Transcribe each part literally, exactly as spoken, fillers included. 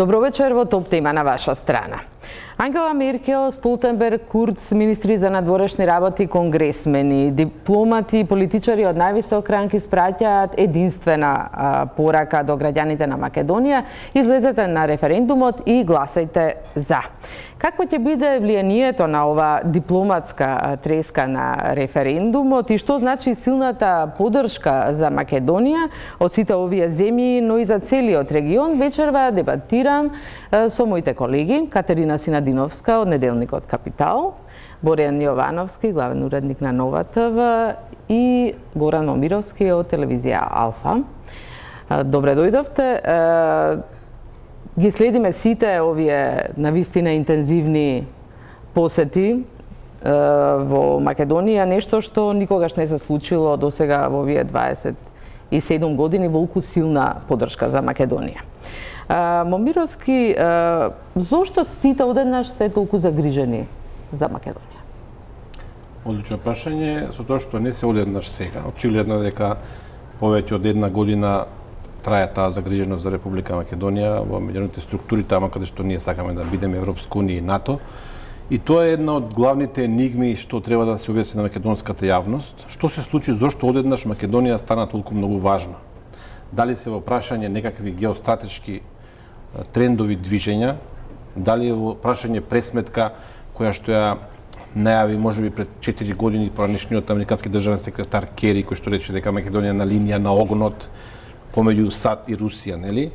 Добро вечер, во топ тема на ваша страна. Ангела Меркел, Столтенберг, Курц, министри за надворешни работи, конгресмени, дипломати и политичари од највисок ранг испраќаат единствена а, порака до граѓаните на Македонија: излезете на референдумот и гласајте за. Какво ќе биде влијанието на ова дипломатска треска на референдумот и што значи силната поддршка за Македонија од сите овие земји, но и за целиот регион, вечерва дебатирам со моите колеги Катерина Синадиновска од неделникот Капитал, Борјан Јовановски, главен уредник на Нова ТВ, и Горан Момировски од телевизија Алфа. Добре дојдовте. Ги следиме сите овие навистина интензивни посети во Македонија, нешто што никогаш не се случило до сега во овие дваесет и седум години, волку силна поддршка за Македонија. Момировски, зошто сите одеднаш се толку загрижени за Македонија? Одлично прашање, со тоа што не се одеднаш сега. Очигледно дека повеќе од една година трае таа загриженост за Република Македонија во меѓународните структури, тама каде што ние сакаме да бидеме Европска унија и НАТО. И тоа е една од главните енигми што треба да се објасни на македонската јавност. Што се случи, зошто одеднаш Македонија стана толку многу важна? Дали се во прашање некакви геостратешки трендови движења, дали е во прашање пресметка која што ја најави можеби пред четири години поранешниот американски државен секретар Кери, кој што рече дека Македонија на линија на огнот помеѓу САД и Русија, нели?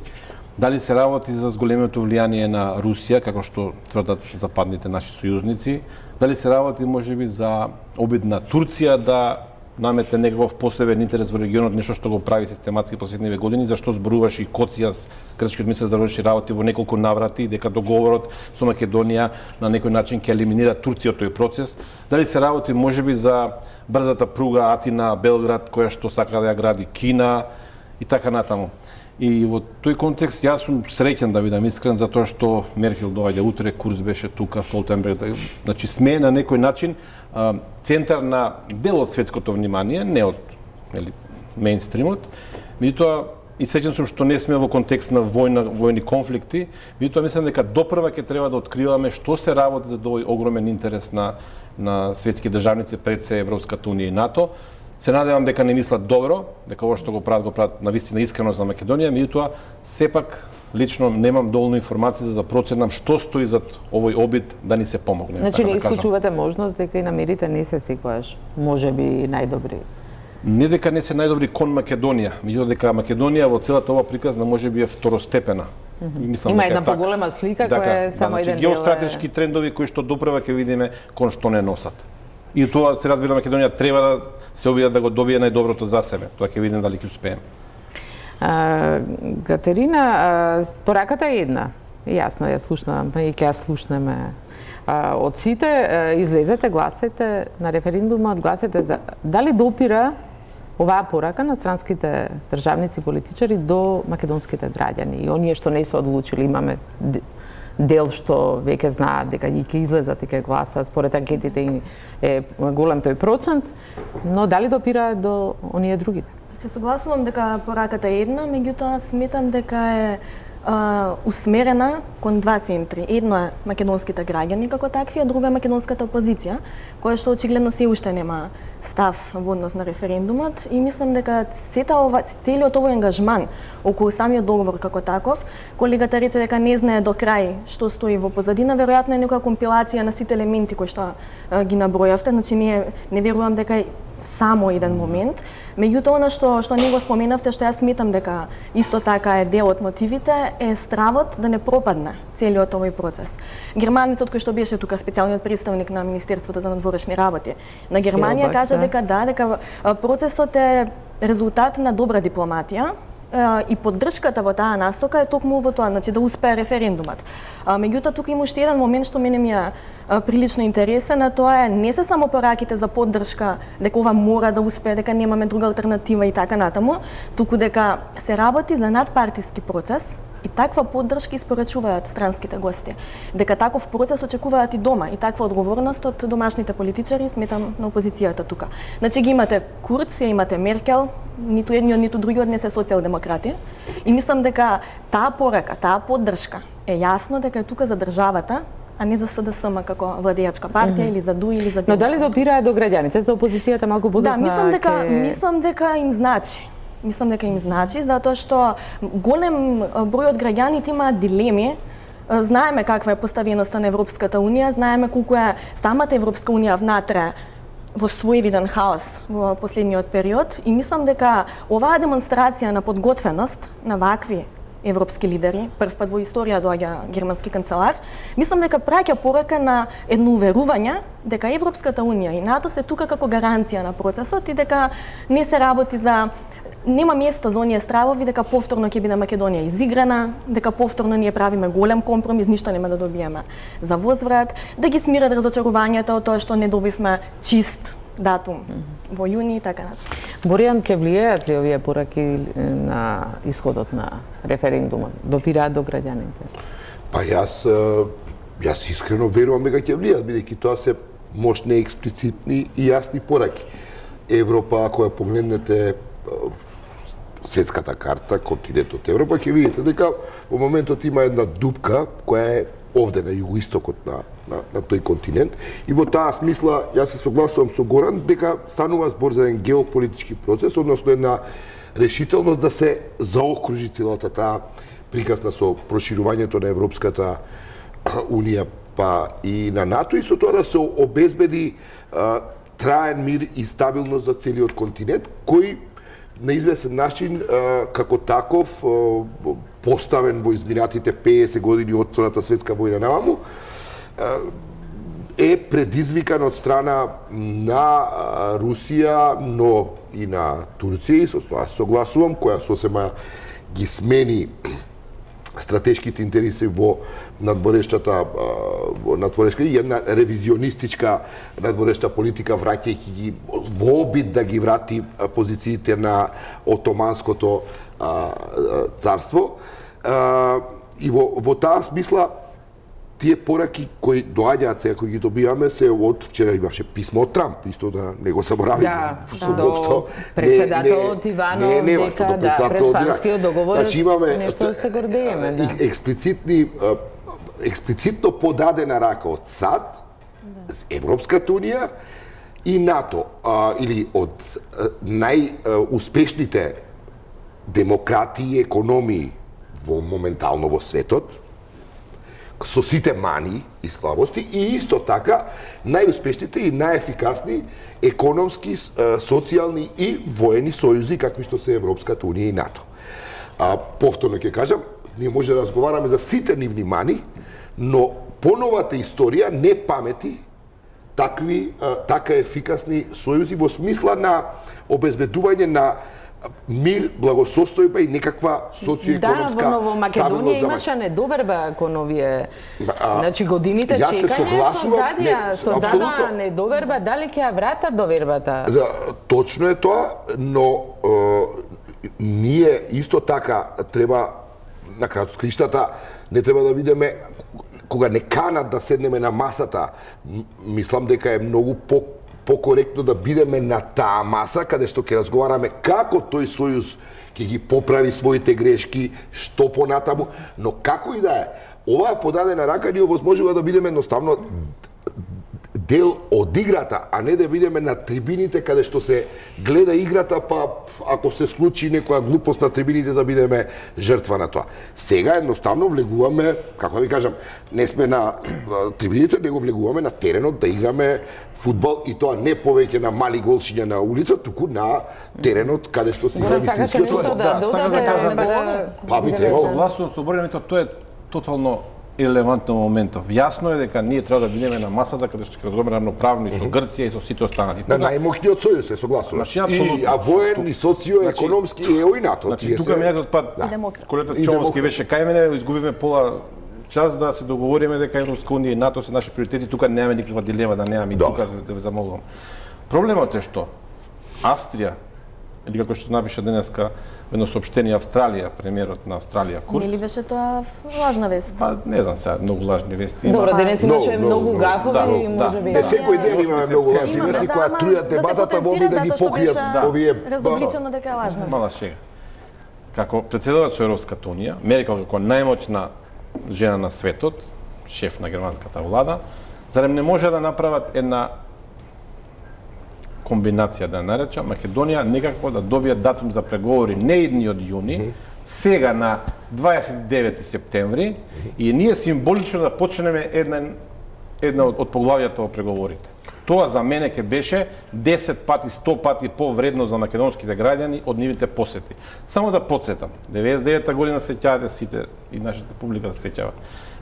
Дали се работи за зголемото влијание на Русија, како што тврдат западните наши сојузници? Дали се работи можеби за обид на Турција да наметне некаков посебен интерес во регионот, нешто што го прави систематски последниве години, зашто зборуваше и Коцијас, грчкиот министер за заврши работи во неколку наврати, дека договорот со Македонија на некој начин ќе елиминира Турција од тој процес? Дали се работи можеби за брзата пруга Атина-Белград, која што сака да ја гради Кина, и така натаму. И во тој контекст јас сум среќен, да бидам искрен, затоа што Меркел доаѓа утре, Курц беше тука, Столтенберг, значи сме на некој начин центар на дел од светското внимание, не од нели мејнстримот. Меѓутоа и среќен сум што не сме во контекст на војна, војни конфликти, меѓутоа мислам дека допрва ќе треба да откриваме што се работи за овој огромен интерес на на светски државници, пред се Европската унија и НАТО. Се надевам дека не мислат добро, дека ова што го прават, го прават навистина искрено за Македонија, меѓутоа сепак лично немам доволно информации за да проценам што стои зад овој обид да ни се помогне. Значи така не да исклучувате можност дека и намерите не се секогаш можеби најдобри? Не дека не се најдобри кон Македонија, меѓутоа дека Македонија во целата ова приказна можеби е второстепена. Mm -hmm. Мислам, Има една поголема слика дека, која е само да, еден дел. Геостратешки трендови кои што допрева ќе видиме кон што не носат. И тоа се разбира Македонија треба да се обиде да го добие најдоброто за себе. Тоа ќе видиме дали ќе успееме. Катерина, пораката е една. Јасно ја слушнам и ќе ја слушнеме од сите. Излезете, гласајте на референдумот, гласајте за. Дали допира оваа порака на странските државници и политичари до македонските граѓани и оние што не се одлучили? Имаме дел што веќе знаат дека ќе излезат и ќе гласат, според анкетите е голем тој процент, но дали допира до оние другите? Се согласувам дека пораката е една, меѓутоа сметам дека е а, усмерена кон два центри. Едно е македонските граѓани како такви, а друго е македонската опозиција, која што очигледно се уште нема став во однос на референдумот, и мислам дека сета ова, целиот овој ангажман околу самиот договор како таков, колегата рече дека не знае до крај што стои во позадина, веројатно е некоја компилација на сите елементи кои што а, ги набројавте, значи не, не верувам дека е само еден момент. Меѓутоа, она што што не го споменавте, што јас сметам дека исто така е дел од мотивите, е стравот да не пропадне целиот овој процес. Германецот кој што беше тука специјалниот представник на Министерството за надворешни работи на Германија кажа дека да, дека процесот е резултат на добра дипломатија и поддршката во таа настока е токму во тоа, значи да успее референдумот. Меѓутоа, тука има уште еден момент што мене ми е прилично интересен, а тоа е не се само пораките за поддршка, дека ова мора да успее, дека немаме друга алтернатива и така натаму, туку дека се работи за надпартиски процес и таква поддршка испорачуваат странските гости. Дека таков процес очекуваат и дома, и таква одговорност од домашните политичари, сметам, на опозицијата тука. Значи ги имате Курц, имате Меркел, ниту едниот, ниту другиот не се социјалдемократи, и мислам дека таа порака, таа поддршка е јасно дека е тука за државата, а не за СДСМ како владеачка партија mm -hmm. или за ДУ или за Но дали допираат до граѓаните? За опозицијата малку подоцна? Да, мислам дека ке... мислам дека им значи. Мислам дека им значи затоа што голем број од граѓаните имаат дилеми. Знаеме каква е поставеноста на Европската унија, знаеме колку е самата Европска унија внатре во свој виден хаос во последниот период и мислам дека оваа демонстрација на подготвеност на вакви европски лидери, прв пат во историја доаѓа германски канцелар, мислам дека праќа порака на едно уверување дека Европската унија и НАТО се тука како гаранција на процесот и дека не се работи за нема место за оние стравови дека повторно ќе биде Македонија изиграна, дека повторно ние правиме голем компромис, ништо нема да добиеме за возврат, да ги смират разочарувањата од тоа што не добивме чист датум mm -hmm. во јуни и така натаму. Боријан, ќе влијаат ли овие пораки на исходот на референдумот? Допираат до граѓаните? Па јас јас искрено верувам дека ќе влијаат, бидејќи тоа се мощни, експлицитни и јасни пораки. Европа, ако ја погледнете светската карта, континентот Европа, ќе видите дека во моментот има една дупка која е овде на југоистокот на, на, на тој континент и во таа смисла јас се согласувам со Горан дека станува збор за еден геополитички процес, односно една решителност да се заокружи целата таа приказна со проширувањето на Европската унија па и на НАТО и со тоа да се обезбеди а, траен мир и стабилност за целиот континент кој на известен начин како таков поставен во изминатите песет години од Втората светска војна наваму е предизвикан од страна на Русија, но и на Турција, и со тоа согласувам, која сосема ги смени стратешките интереси во надворешната во надворешка и една ревизионистичка надворешна политика, враќајќи ги во обид да ги врати позициите на Отоманското а, царство. А, и во, во таа смисла тие пораки кои доаѓаат сега, кои ги добиваме, се од вчера имаше писмо од Трамп, исто да не го заборавиме. Да, до председателот Иванов, дека да, преспанскиот договор, значи, имаме нешто да се гордееме. Да. Експлицитни, експлицитно подадена рака од САД, Европската унија и НАТО, а, или од најуспешните демократии и економии во моментално во светот, со сите мани и слабости и исто така најуспешните и најефикасни економски, социјални и воени сојузи какви што се Европската унија и НАТО. А, повторно ќе кажам, ние може да разговараме за сите нивни мани, но поновата историја не памети такви така ефикасни сојузи во смисла на обезбедување на мир, благосостојба и некаква социоекономска стабилност. Да, во Ново Македонија имаше недоверба кон овие, а, значи годините чекање, создадија, создадаа недоверба, дали ќе ја вратат довербата? Да, точно е тоа, но е, ние исто така треба на крајот криштата не треба да видиме кога не канат да седнеме на масата, мислам дека е многу по покоректно да бидеме на таа маса каде што ќе разговараме како тој сојуз ќе ги поправи своите грешки, што понатаму, но како и да е, оваа подадена рака ни овозможува да бидеме едноставно дел од играта, а не да бидеме на трибините каде што се гледа играта, па ако се случи некоја глупост на трибините да бидеме жртва на тоа. Сега едноставно влегуваме, како да ви кажам, не сме на трибините, него влегуваме на теренот да играме фудбал и тоа не повеќе на мали голшиња на улица, туку на теренот каде што се игра вистинскиот фудбал. Да, сакам да кажам, па би требало. Согласувам со Боријан, тоа е тотално ирелевантно моментов. Јасно е дека ние треба да бидеме на масата каде што ќе разговараме равноправно и со Грција и со сите останати. На најмощниот сојуз се согласувам. Значи, апсолутно. И а воен, и социо-економски, и ео и НАТО. Значи, тука минатиот пат, колегата Чомовски беше кај мене, изгубивме пола час да се договориме дека Европска унија и НАТО се наши приоритети, тука немаме никаква дилема да немаме и да. Тука да ве замолувам. Проблемот е што Австрија, или како што напиша денеска едно соопштение Австралија, премиерот на Австралија Курц. Или беше тоа лажна вест? Па не знам сега, многу лажни вести. Добро, денес имаше no, многу no, гафови да, и може би. Не секој ден имаме многу лажни вести кои трујат дебатата во обид да ги покријат овие разобличено дека е лажна. Мала шега. Како председател со Европската унија, Меркел како најмоćна жена на светот, шеф на германската влада, зарем не може да направат една комбинација, да наречам, Македонија некако да добие датум за преговори не идниот јуни, mm -hmm. сега на дваесет и девети септември, mm -hmm. и ние символично да почнеме една, една од, од поглавијата во преговорите. Тоа за мене ќе беше десет пати, сто пати повредно за македонските граѓани од нивните посети. Само да подсетам, деветдесет и девета година се сеќавате сите и нашата публика се сеќава.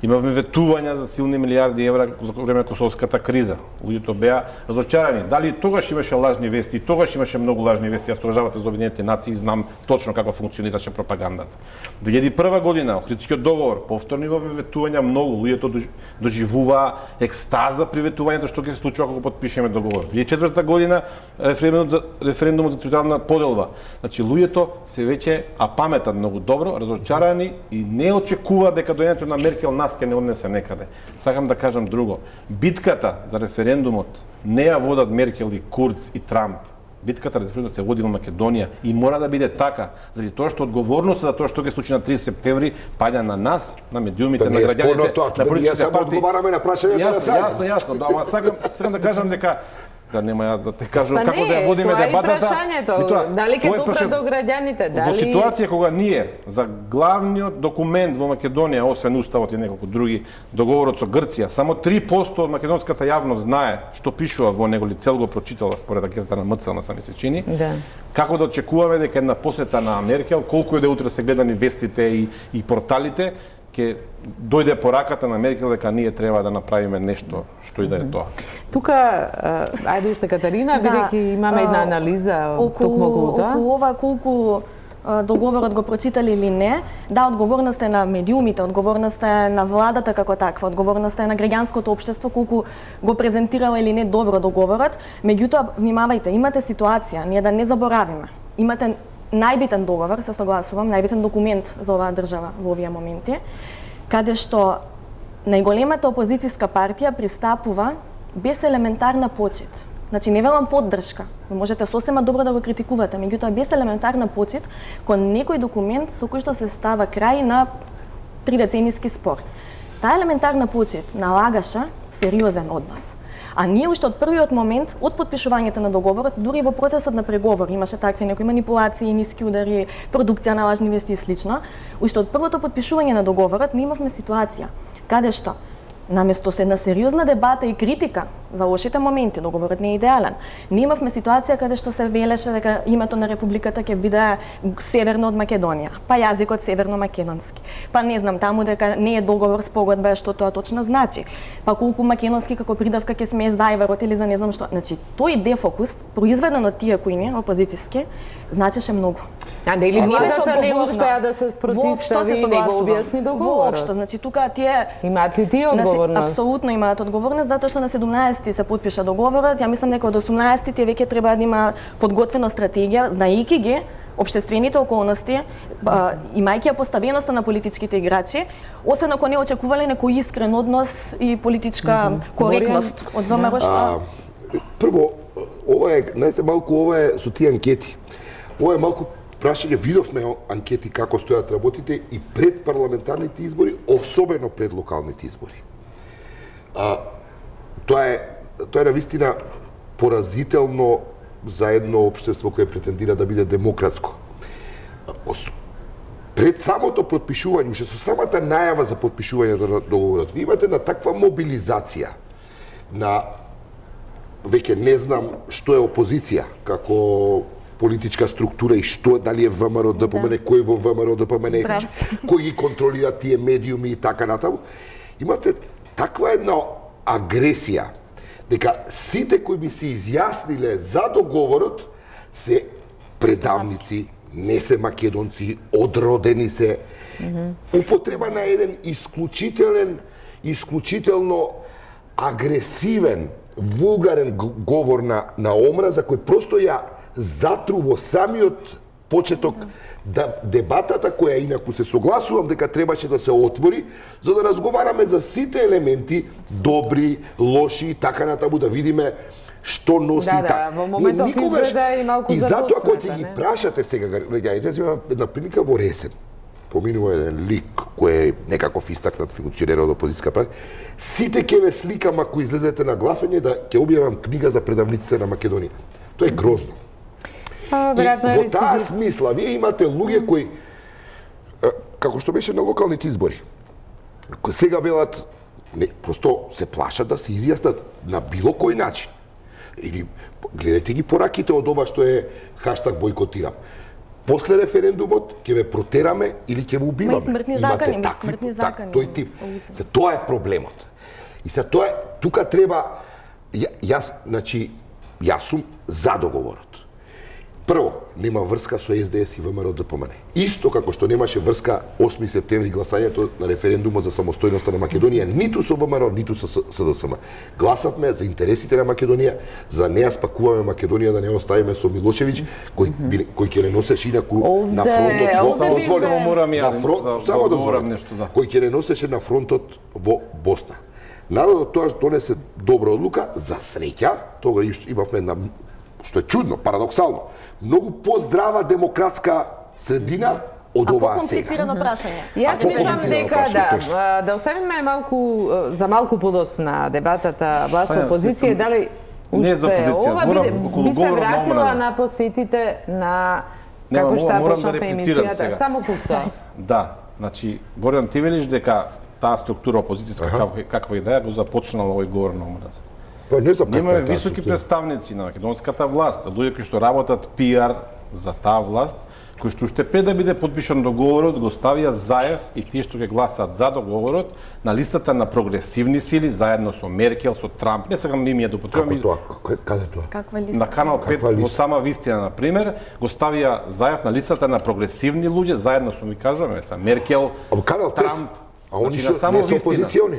Имавме ветувања за силни милиарди евра за време косовската криза. Луѓето беа разочарани. Дали тогаш имаше лажни вести, тогаш имаше многу лажни вести, јас сторожавате за Обединетите нации, знам точно како функционираше пропагандата. две илјади и прва година, Охридскиот договор, повторно имаме ветувања многу, луѓето доживуваа екстаза при ветувањето што ќе се случува кога потпишеме договор. две илјади и четврта година референдумот за референдумот за територијална поделба. Значи луѓето се веќе а паметат многу добро, разочарани и не очекуваат дека доаѓањето на Меркел нас ќе не однесе некаде. Сакам да кажам друго. Битката за референдумот не ја водат Меркел и Курц и Трамп. Битката за референдумот се води во Македонија и мора да биде така, заради тоа што одговорноста за тоа што ќе случи на тридесет септември паѓа на нас, на медиумите, да, на граѓаните, на политичките партии. Одговараме на прашањето на сајм. Јасно, јасно, да, ама сакам, сакам да кажам дека да нема ја да те кажам па како не, да ја водиме дебатата. Тоа е прашањето. Дали ќе допре до граѓаните? Дали... Во ситуација кога ние за главниот документ во Македонија, освен уставот и неколку други, договорот со Грција, само три проценти од македонската јавност знае што пишува во него, ли цел го прочитала според анкетата на МЦ на сами се чини. Да. Како да очекуваме дека една посета на Меркел, колку е да утре се гледани вестите и, и порталите, ќе дојде пораката на Меркел дека ние треба да направиме нешто што и да е тоа. Тука, ајде уште Катарина, бидејќи имаме една анализа токму околу тоа. Околу ова колку договорот го прочитали или не, да, одговорност е на медиумите, одговорност е на владата како таква, одговорност е на граѓанското општество колку го презентирала или не добро договорот. Меѓутоа, внимавајте, имате ситуација, ние да не заборавиме. Имате најбитен договор, се согласувам, најбитен документ за оваа држава во овие моменти, каде што најголемата опозицијска партија пристапува без елементарна почит. Значи, не велам поддршка, можете сосема добро да го критикувате, меѓутоа без елементарна почит кон некој документ со кој што се става крај на тридецениски спор. Таа елементарна почит налагаше сериозен однос. А ние уште од првиот момент, од подпишувањето на договорот, дури во процесот на преговор, имаше такви некои манипулации, ниски удари, продукција на лажни вести и слично, уште од првото подпишување на договорот, ние имавме ситуација каде што наместо со една сериозна дебата и критика за лошите моменти, договорот не е идеален. Ние имавме ситуација каде што се велеше дека името на републиката ќе биде северно од Македонија, па јазикот северно-македонски. Па не знам таму дека не е договор спогодба што тоа точно значи. Па колку македонски како придавка ќе смее зајверот или за не знам што. Значи, тој дефокус произведен од тие кои не опозицијски значеше многу. А дали владата не успеа да се спротивстави и не го објасни договорот? Воопшто, значи тука тие имаат ли тие одговорност? Апсолутно имаат одговорност, затоа што на седумнаесети се потпиша договорот. Ја мислам дека од осумнаесети тие веќе треба да има подготвена стратегија, знаејќи ги општествените околности, имајќи ја поставеноста на политичките играчи, освен ако не очекувале некој искрен однос и политичка mm -hmm. коректност од ВМРО што... Прво, ова е, знаете, малку ова е со тие анкети. Ова е малку прашање, видовме анкети како стојат работите и пред парламентарните избори, особено пред локалните избори. А, тоа е тоа е навистина поразително за едно општество кое претендира да биде демократско. Пред самото потпишување, уште со самата најава за потпишување на договорот, ви имате на таква мобилизација на веќе не знам што е опозиција како политичка структура и што, дали е ВМРО, ДПМН, да. Кој во ВМРО, ДПМН, кој ги контролира тие медиуми и така натаму. Имате таква една агресија, дека сите кои би се изјасниле за договорот се предавници, не се македонци, одродени се. Mm -hmm. Употреба на еден исклучителен, исклучително агресивен, вулгарен говор на, на омраза, кој просто ја затру во самиот почеток да дебатата која инаку се согласувам дека требаше да се отвори за да разговараме за сите елементи, добри, лоши и така натаму, да видиме што носи да, така. Да, во моментов никогаш... изгледа и малку и затоа кога ќе ги прашате сега граѓаните, има една прилика во Ресен. Поминува еден лик кој е некаков истакнат функционер од опозицијска партија, сите ќе ве сликам ако излезете на гласање да ќе објавам книга за предавниците на Македонија. Тоа е грозно. А, И веројатно во таа смисла, вие имате луѓе кои, како што беше на локалните избори, кои сега велат, не, просто се плашат да се изјаснат на било кој начин. Или гледате ги пораките од ова што е хаштаг бойкотирам. После референдумот ќе ве протераме или ќе ве убиваме. Ма и смртни закани, ма и смртни закани. Тој тип. За тоа е проблемот. И за тоа тука треба ја, јас, значи, јас сум за договорот. Прво, нема врска со С Д С и В М Р Д П М Н. Исто како што немаше врска осми септември гласањето на референдумот за самостојноста на Македонија, ниту со В М Р, ниту со С Д С М. Гласавме за интересите на Македонија, за да не ја спакуваме Македонија, да не оставиме со Милошевиќ, кој кој ќе не носеше инаку на фронтот во Овде само морам ја само да говорам нешто, да. Кој ќе не носеше на фронтот во Босна. Народот тоа донесе добра одлука, за среќа, тога имавме една, што е чудно, парадоксално, многу поздрава демократска средина од оваа сега. Компlicirano прашање. Јас мислам дека да, да оставиме малку за малку подос на дебатата власт-опозиција, дали не за опозиција, ова зборам биде, околу би се говорот на вратила омраза. на посетите на Не, како што морам да почнавме реплицирам емисијата. сега. Само куца. Да, значи Борјан, ти велиш дека таа структура опозицијска каква, каква и да е го започнала овој говор на омраза. Па не за Ние имаме каква е високи таа представници на македонската власт, луѓе кои што работат Пи Ар за таа власт, кои што уште пред да биде подпишан договорот го ставија Заев и тие што ќе гласаат за договорот на листата на прогресивни сили заедно со Меркел, со Трамп. Не сакам имиња да употребувам. Како тоа? Кај- Каде тоа? Каква листа? На канал пет Каква во листа? сама вистина, на пример, го ставија Заев на листата на прогресивни луѓе заедно со, ми кажуваме, са Меркел, А канал пет? Трамп. А они Значи, на што само не се вистина. опозициони?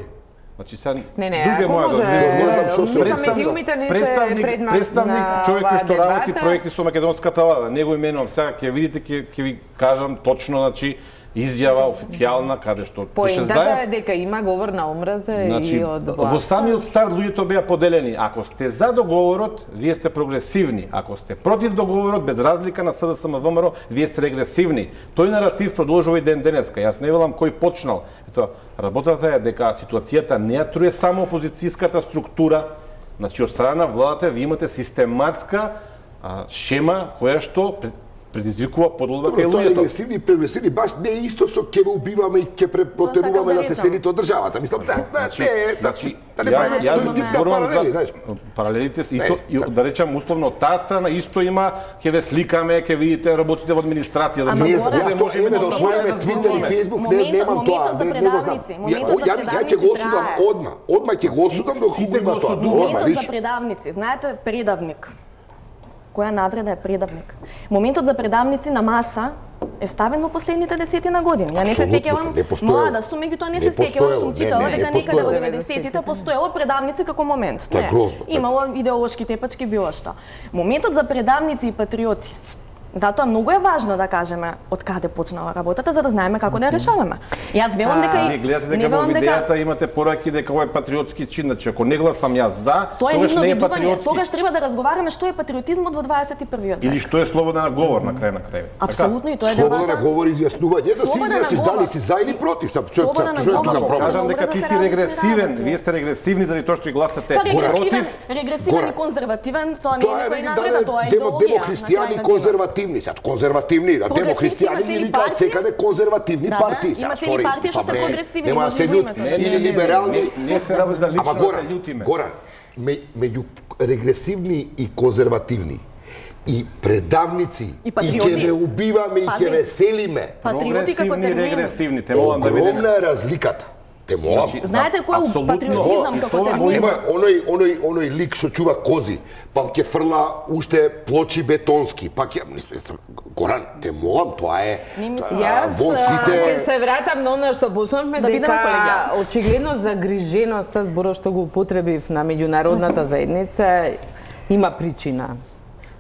Значи сега Не, не, друга ако моја може, не знам што се- мислам медиумите не се представник, предмет представник на човек кој оваа што работи дебата. проекти со македонската влада. Не го именувам сега, ќе видите, ќе ќе ви кажам точно, значи изјава официјална каде што пише Поентата е Заев. дека има говор на омраза Значи, и од во власт. самиот старт луѓето беа поделени. Ако сте за договорот, вие сте прогресивни. Ако сте против договорот, без разлика на С Д С М В М Р, вие сте регресивни. Тој наратив продолжува и ден денеска. Јас не велам кој почнал. Ето, работата е дека ситуацијата не ја труе само опозицијската структура. Значи, од страна на владата ви имате систематска а, шема која што пред- предизвикува подолба кај Тоа е луѓето. регресивни и прегресивни, баш не е исто со ќе ве убиваме и ќе препротеруваме да да се речам. селите од државата. Мислам, да, да, Значи, не е, значи, да не јас, правиме јас тој тип на зборувам паралели, за знаеш. паралелите се исто, Не, и, да речам условно од таа страна исто има, ќе ве сликаме, ќе видите работите во администрација, Ама значи Не Горе, знам, овде ја тоа можеме име да да отвориме да Твитер и зборуваме. Фејсбук, не Моментот- немам тоа, моментот за не, не го знам. предавници, Ја, моментот за ја, ја ќе го осудам предавници одма, одма ќе го осудам доколку Сите има го тоа. осудуваме. Одма, Моментот за лично. предавници, знаете, предавник. Која навреда е предавник? Моментот за предавници на маса е ставен во последните десетина години. Ја не се Апсолутно, сеќавам, не постоело. млада сум, меѓутоа не Не се сеќавам, постоело, сум не, читала не, не дека некаде во постоело. деветдесетите постоело предавници како момент. Тоа е Не. грозно. Имало идеолошки тепачки било што. Моментот за предавници и патриоти. Затоа многу е важно да кажеме од каде почнала работата за да знаеме како да ја решаваме. Јас велам дека Не гледате дека не во велам дека видејата имате пораки дека ова е патриотски чин, значи ако не гласам јас за, тоа е тогаш нивно не е видување. патриотски. Тогаш треба да разговараме што е патриотизмот во дваесет и првиот век. Или што е слободен говор на крај на крај. Апсолутно и тоа е Слободен дебата. говор изјаснување, за се Слободен изјасниш говор. дали си за или против, сам што Слободен што е говор. тука проблем. Кажам дека Образа ти се си различни регресивен, работи. вие сте регресивни заради тоа што и гласате Па регресивен, против. регресивен Горе. и конзервативен, тоа не е Тоа е некој вели навреда, дали тоа е демо идеологија. демохристијани на крај на конзервативни, сад конзервативни, а демохристијани ги имате ли викаат партии? секаде конзервативни Да, да, партии. Сега, имате ли сори, партии што се па, прогресивни, нема да може се да лют, имате. Не, не, или не, не, либерални. не, не се работи за лично Ама да се Горан, љутиме. Горан, ме- меѓу регресивни и конзервативни и предавници И и патриоти. ќе ве убиваме и Пази. ќе ве селиме. Патриоти како Прогресивни, термин. регресивни, те молам да видиме. Огромна е разликата. Те молам. Значи, Знаете кој е Апсолутно. патриотизам Тоа- како тоа термин? го Има оној оној оној лик што чува кози, па ќе фрла уште плочи бетонски, па ќе мислам, Горан, те молам, тоа е. Не мислам. а, Јас во а, сите ќе се вратам на она што почнавме, Да бидеме дека колегијални. очигледно загриженоста, зборот што го употребив на меѓународната заедница, има причина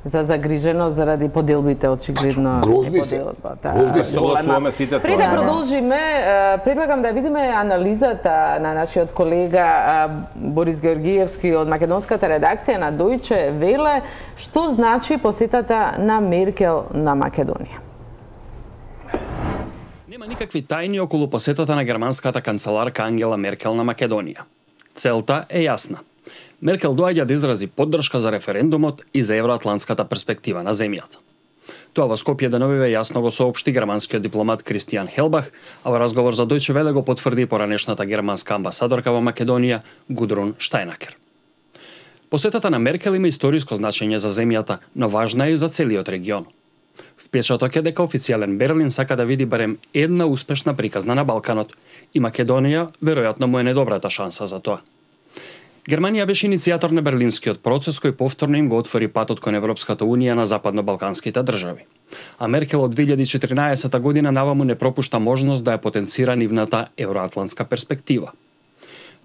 за загриженост заради поделбите, очигледно. Грозни е се. поделбата. Грозни се. Согласуваме сите Пред тоа. да продолжиме, е, предлагам да видиме анализата на нашиот колега е, Борис Георгиевски од македонската редакција на Дојче Веле, што значи посетата на Меркел на Македонија. Нема никакви тајни околу посетата на германската канцеларка Ангела Меркел на Македонија. Целта е јасна. Меркел доаѓа да изрази поддршка за референдумот и за евроатлантската перспектива на земјата. Тоа во Скопје деновиве јасно го соопшти германскиот дипломат Кристијан Хелбах, а во разговор за Дојче Веле го потврди поранешната германска амбасадорка во Македонија Гудрун Штајнакер. Посетата на Меркел има историско значење за земјата, но важна е и за целиот регион. Впечаток е дека официјален Берлин сака да види барем една успешна приказна на Балканот и Македонија веројатно му е недобрата шанса за тоа. Германија беше иницијатор на Берлинскиот процес кој повторно им го отвори патот кон Европската унија на западно-балканските држави. А Меркел од две илјади и четиринаесета година наваму не пропушта можност да ја потенцира нивната евроатлантска перспектива.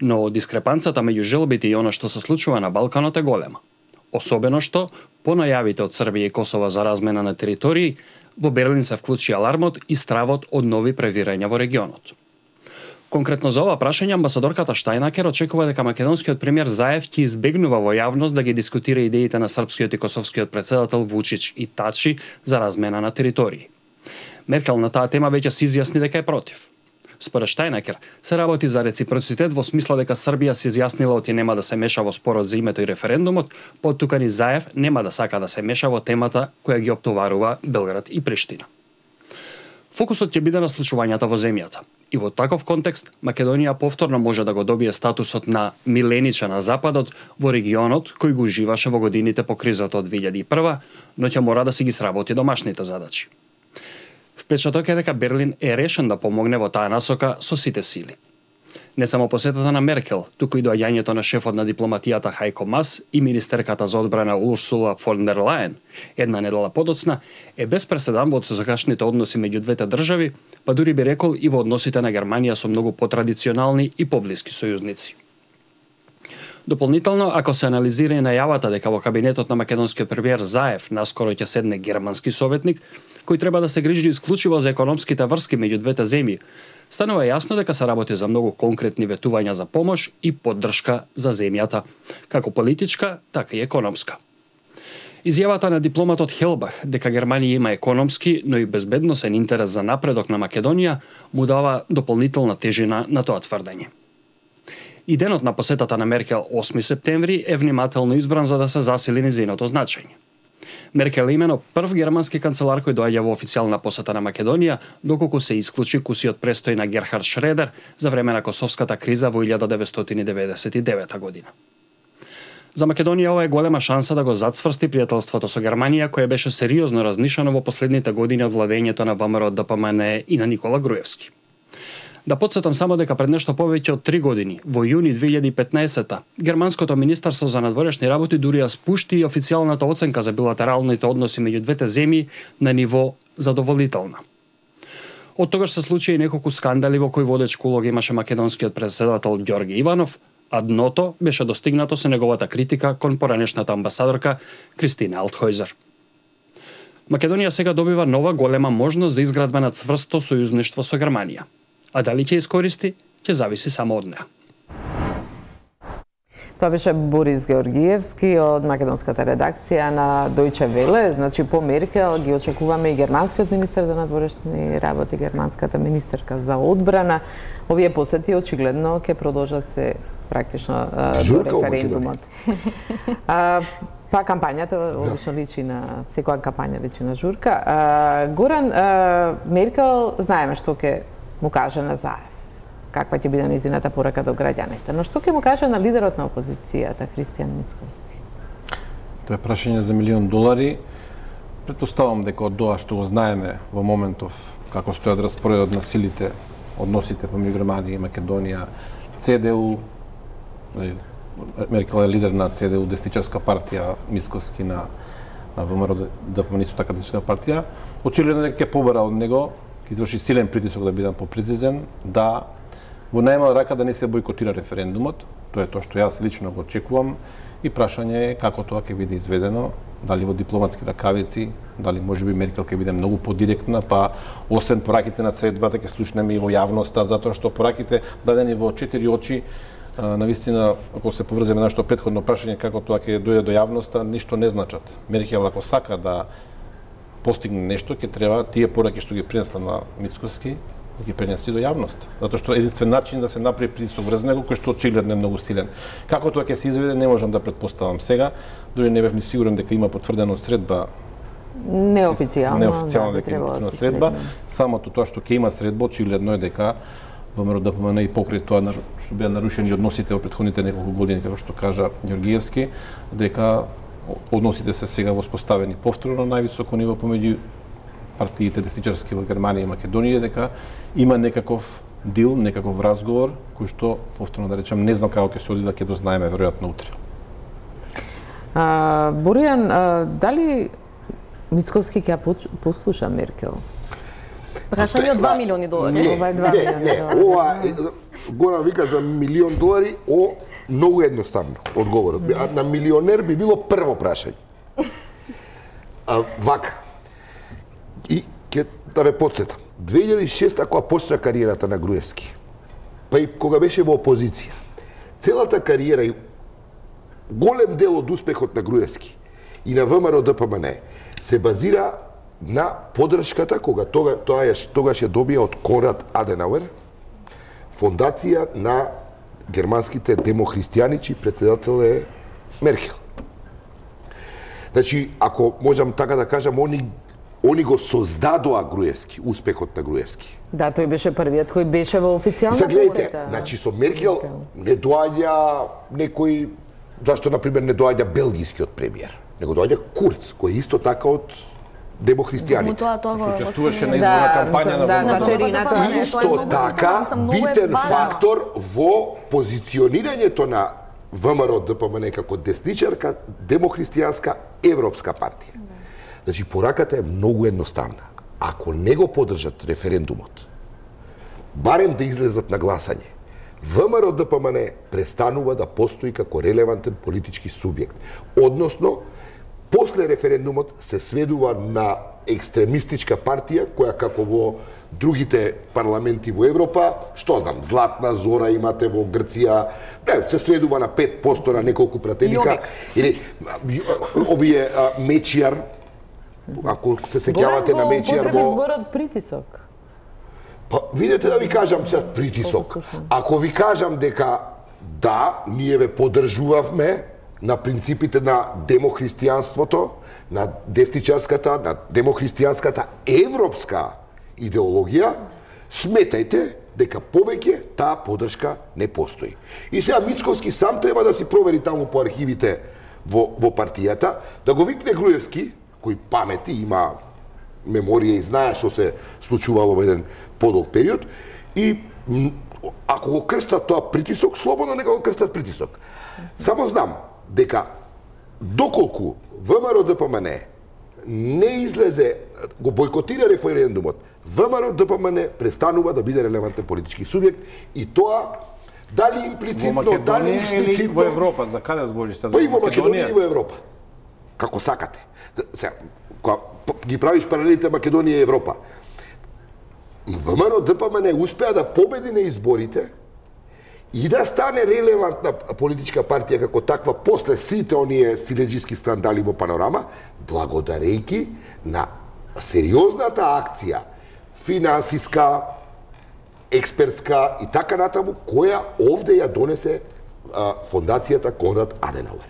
Но дискрепанцата меѓу желбите и она што се случува на Балканот е голема. Особено што, по најавите од Србија и Косово за размена на територии, во Берлин се вклучи алармот и стравот од нови превирања во регионот. Конкретно за ова прашање, амбасадорката Штајнакер очекува дека македонскиот премиер Заев ќе избегнува во јавност да ги дискутира идеите на српскиот и косовскиот претседател Вучич и Тачи за размена на територии. Меркел на таа тема веќе се изјасни дека е против. Според Штајнакер, се работи за реципроцитет во смисла дека Србија се изјаснила оти нема да се меша во спорот за името и референдумот, поттукани Заев нема да сака да се меша во темата која ги оптоварува Белград и Приштина. Фокусот ќе биде на случувањата во земјата. И во таков контекст, Македонија повторно може да го добие статусот на милениче на Западот во регионот кој го уживаше во годините по кризата од две илјади и прва, но ќе мора да си ги сработи домашните задачи. Впечаток е дека Берлин е решен да помогне во таа насока со сите сили. Не само посетата на Меркел, туку и доаѓањето на шефот на дипломатијата Хајко Мас и министерката за одбрана Урсула фон дер Лајен, една недела подоцна, е без преседан во досегашните односи меѓу двете држави, па дури би рекол и во односите на Германија со многу потрадиционални и поблиски сојузници. Дополнително, ако се анализира и најавата дека во кабинетот на македонскиот премиер Заев наскоро ќе седне германски советник, кој треба да се грижи исклучиво за економските врски меѓу двете земји, станува јасно дека се работи за многу конкретни ветувања за помош и поддршка за земјата, како политичка, така и економска. Изјавата на дипломатот Хелбах дека Германија има економски, но и безбедносен интерес за напредок на Македонија му дава дополнителна тежина на тоа тврдење. И денот на посетата на Меркел осми септември е внимателно избран за да се засили незиното значење. Меркел е имено прв германски канцелар кој доаѓа во официјална посета на Македонија, доколку се исклучи кусиот престој на Герхард Шредер за време на косовската криза во илјада деветстотини деветдесет и девета година. За Македонија ова е голема шанса да го зацврсти пријателството со Германија, кое беше сериозно разнишано во последните години од владењето на ВМРО Д П М Н и на Никола Груевски. Да подсетам само дека пред нешто повеќе од три години, во јуни две илјади и петнаесета, германското министерство за надворешни работи дури ја спушти и официјалната оценка за билатералните односи меѓу двете земји на ниво задоволителна. Од тогаш се случи и неколку скандали во кои водечка улога имаше македонскиот претседател Ѓорги Иванов, а дното беше достигнато со неговата критика кон поранешната амбасадорка Кристина Алтхојзер. Македонија сега добива нова голема можност за изградба на цврсто сојузништво со Германија. А дали ќе искористи, ќе зависи само од неа. Тоа беше Борис Георгиевски од македонската редакција на Дојче Веле. Значи, по Меркел ги очекуваме и германскиот министер за надворешни работи, германската министерка за одбрана. Овие посети очигледно ќе продолжат се практично до референдумот. А, па кампањата обично личи на секоја кампања личи на журка. А, Горан, а, Меркел знаеме што ќе му каже на Заев, каква ќе биде незината порака до граѓаните. Но што ќе му каже на лидерот на опозицијата, Христијан Мицкоски? Тоа е прашање за милион долари. Претпоставам дека од тоа што го знаеме во моментов како стојат распоредот на силите, односите помеѓу Германија и Македонија, Це Де У, Меркел е лидер на Це Де У, десничарска партија, Мицкоски на на ВМРО Д П М Н исто така десничарска партија, очигледно дека ќе побара од него, ќе изврши силен притисок да бидам попрецизен, да во најмала рака да не се бойкотира референдумот. Тоа е тоа што јас лично го очекувам и прашање е како тоа ќе биде изведено, дали во дипломатски ракавици, дали можеби Меркел ќе биде многу подиректна, па освен пораките на средбата ќе слушнеме и во јавноста, затоа што пораките дадени во четири очи, навистина, ако се поврземе на нашето претходно прашање како тоа ќе дојде до јавноста, ништо не значат. Меркел ако сака да постигне нешто, ќе треба тие пораки што ги принесла на Мицкоски да ги пренеси до јавност. Затоа што единствен начин да се направи притисок врз него, кој што очигледно е многу силен. Како тоа ќе се изведе, не можам да претпоставам сега, дури не бев ни сигурен дека има потврдена средба. Неофицијално. Неофицијално дека има потврдена средба. Самото тоа што ќе има средба, очигледно е дека ВМРО-ДПМН и покрај тоа што беа нарушени односите во претходните неколку години, како што кажа Ѓоргиевски, дека односите се сега воспоставени повторно на највисоко ниво помеѓу партиите десничарски во Германија и Македонија, дека има некаков дил, некаков разговор, кој што, повторно да речем, не знам како ќе се одвива, ќе дознаеме веројатно утре. А, Боријан, а, дали Мицковски ќе послуша Меркел? Прашање од два милиони долари. Не, Ова е два не, милиони не, долари. ова Горан вика за милион долари, о, многу едноставно одговорот. А на милионер би било прво прашање. А, вака. И ќе да ве потсетам. две илјади и шеста кога почна кариерата на Груевски, па и кога беше во опозиција, целата кариера и голем дел од успехот на Груевски и на ВМРО-ДПМН се базира на поддршката кога тога, тоа е, тогаш ја добија од Конрад Аденауер, фондација на германските демохристијани, чиј председател е Меркел. Значи, ако можам така да кажам, они Они го создадоа Груевски, успехот на Груевски. Да, тој беше првиот кој беше во официјална Загледайте, посета. значи со Меркел не доаѓа некој, зашто например не доаѓа белгискиот премиер, него доаѓа Курц, кој е исто така од демохристијаните. Тоа тоа го Учествуваше на го изборна Да, кампања на да, ВМРО. Катерина, тоа не е Исто така битен фактор во позиционирањето на ВМРО-ДПМН како десничарка, демохристијанска, европска партија. Значи, пораката е многу едноставна. Ако не го поддржат референдумот, барем да излезат на гласање, ВМРО-ДПМН престанува да постои како релевантен политички субјект. Односно, после референдумот се сведува на екстремистичка партија, која како во другите парламенти во Европа, што знам, Златна зора имате во Грција, не, се сведува на пет проценти на неколку пратеника, или овие а, Мечијар, ако се сеќавате на Мечијар во... во... зборот притисок. Па, видете да ви кажам сега притисок. Ако ви кажам дека да, ние ве поддржувавме на принципите на демохристијанството, на десничарската, на демохристијанската европска идеологија, сметајте дека повеќе таа поддршка не постои. И сега Мицковски сам треба да си провери таму по архивите во, во партијата, да го викне Груевски, кој памети, има меморија и знае што се случувало во еден подолг период, и ако го крстат тоа притисок, слободно нека го крстат притисок. Само знам дека доколку ВМРО-ДПМН не излезе, го бойкотира референдумот, ВМРО-ДПМН престанува да биде релевантен политички субјект и тоа дали имплицитно, во дали Македонија или експлицитно... во Европа, за каде збориш се за Па и во Македонија Македонија? и во Европа. Како сакате. Сега, кога ги правиш паралелите Македонија и Европа, ВМРО-ДПМН успеа да победи на изборите и да стане релевантна политичка партија како таква после сите оние силеџиски скандали во панорама, благодарејќи на сериозната акција, финансиска, експертска и така натаму, која овде ја донесе а, фондацијата Конрад Аденауер.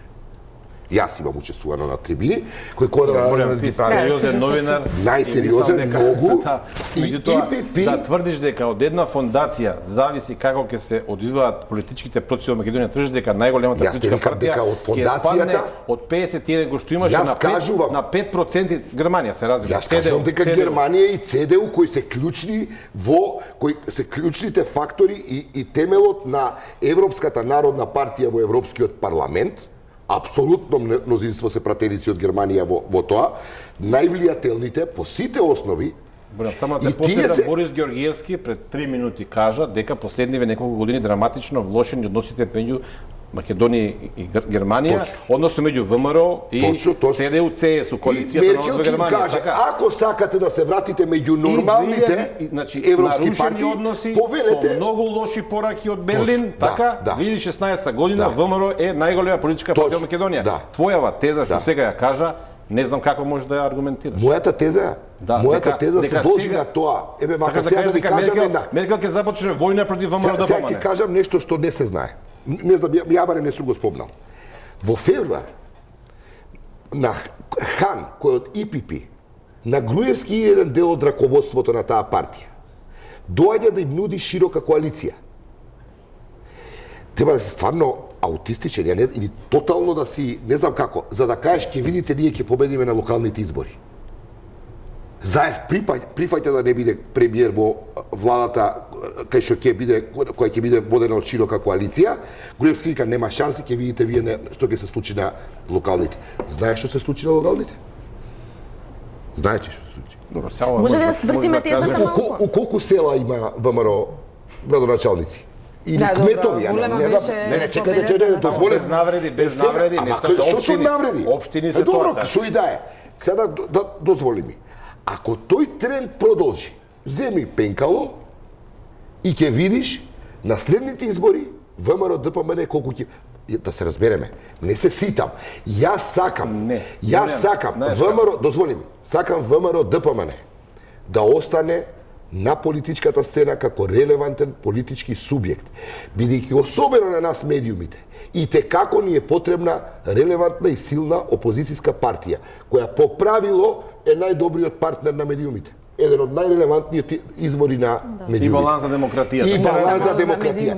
Јас имам учествувано на трибини, кој Конрад Борјан, ти си сериозен новинар. Најсериозен, и мислам дека- многу. Да, И меѓутоа, И П П да тврдиш дека од една фондација зависи како ќе се одвиваат политичките процеси во Македонија, тврдиш дека најголемата Јас политичка викам партија дека од ќе фондацијата- спадне од педесет и еден кој што имаше Јас на пет, кажувам- на пет проценти Германија се разбира. Јас кажам дека Цедеу. Германија и ЦДУ кои се клучни во кои се клучните фактори и, и темелот на Европската народна партија во Европскиот парламент, апсолутно мнозинство се пратеници од Германија во, во тоа, највлијателните по сите основи. Борјан, само да И те потсетам, тие се- Борис Ѓоргиевски пред три минути кажа дека последниве неколку години драматично влошени односите меѓу Македонија и Гер- Германија, Точно. односно меѓу ВМРО и Точно, точно. ЦДУ, ЦСУ, И коалицијата на Меркел во ќе им Германија, каже, така. ако сакате да се вратите меѓу И нормалните две илјади, значи, европски нарушени партии, односи повелете со многу лоши пораки од Берлин, Точно, така, да, да. две илјади и шеснаесета година Да. ВМРО е најголема политичка партија Точно, од Македонија. да. Твојава теза што Да. сега ја кажа, не знам како може да ја аргументираш. Мојата теза Да, Мојата теза се должи на тоа. Еве, мака сега да ви кажам една. Меркел ќе започне војна против ВМРО да Сега ќе кажам нешто што не се знае. Не знам, ја барем не сум го спомнал. Во февруар на Хан, кој од И Пи Пи, на Груевски и еден дел од раководството на таа партија, доаѓа да им нуди широка коалиција. Треба да си стварно аутистичен, ја не, или тотално да си, не знам како, за да кажеш, ќе видите, ние ќе победиме на локалните избори. Заев прифаќа да не биде премиер во владата кај што ќе биде, која ќе биде водена од широка коалиција. Груевски вика нема шанси, ќе видите вие не, што ќе се случи на локалните. Знаеш што се случи на локалните? Знаете што се случи? Добро, само може да свртиме тезата малку. У колку села има ВМРО градоначалници? Или да, кметови, добро, не, не, не, не, не, чекајте, че не дозволете. Без навреди, без навреди, нешто се општини. Што се навреди? Општини се тоа. Добро, што и да е. Сега да, да дозволи ми. Ако тој тренд продолжи, земи пенкало и ќе видиш на следните избори ВМРО Д П М Н колку ќе, да се разбереме, не се ситам. Јас сакам. Не. Јас сакам ВМРО, дозволи ми, сакам ВМРО Д П М Н да остане на политичката сцена како релевантен политички субјект, бидејќи особено на нас медиумите, и те како ни е потребна релевантна и силна опозицијска партија, која по правило е најдобриот партнер на медиумите. Еден од најрелевантниот извори на медиумите. И баланс за демократијата. И баланс за демократија.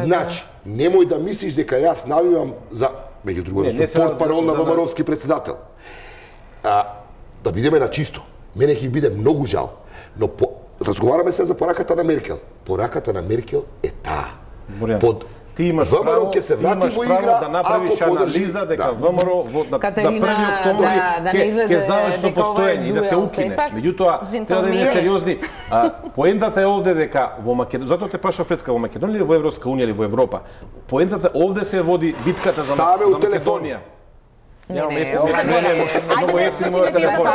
Значи, немој да мислиш дека јас навивам за, меѓу другото, сум портпарол на ВМРО-вски председател. А, да бидеме на чисто. Мене ќе биде многу жал, но по, разговараме се за пораката на Меркел. Пораката на Меркел е таа. Под ти имаш право, ќе се врати во игра, да направиш анализа дека ВМРО во да први октомври ќе заврши со постоење и да се укине. Меѓутоа, треба да биде сериозни. Поентата е овде дека во Македонија, затоа те прашав преска во Македонија или во Европска унија или во Европа. Поентата овде се води битката за Македонија. Немаме ефтини, не, не, многу ефтини мојот телефон.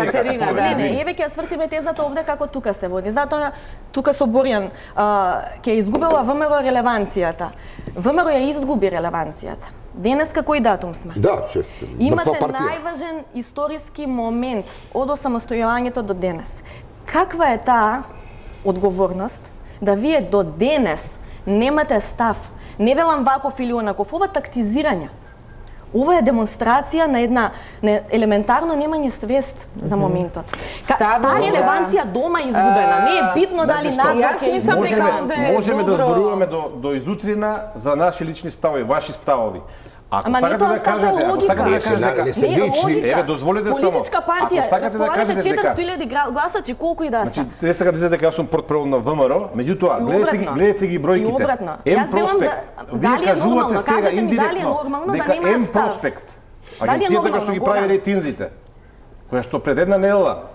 Катерина, не, не, еве ќе свртиме тезата овде како тука се води. Затоа тука со Борјан ќе изгубила ВМРО релеванцијата. ВМРО ја изгуби релеванцијата. Денеска кој датум сме? Да, че. Имате најважен историски момент од осамостојувањето до денес. Каква е таа одговорност да вие до денес немате став? Не велам ваков или онаков, ова тактизирање. Ова е демонстрација на една не, елементарно немање свест за моментот. Таа релеванција дома е изгубена. Не е битно дали надвор ќе можеме, можеме да зборуваме до, до изутрина за наши лични ставови, ваши ставови. Ако Ама сакате да кажете, ако сакате да кажете дека не се лични, еве дозволете само. Политичка партија, ако сакате да кажете дека четиристотини илјади гласачи, колку и да се. Значи, се сега дизете дека јас сум портпарол на ВМРО, меѓутоа гледате ги, гледате ги бројките. Ем проспект. Вие кажувате сега индиректно дека Ем проспект, агенцијата која што ги прави рейтинзите, која што пред една недела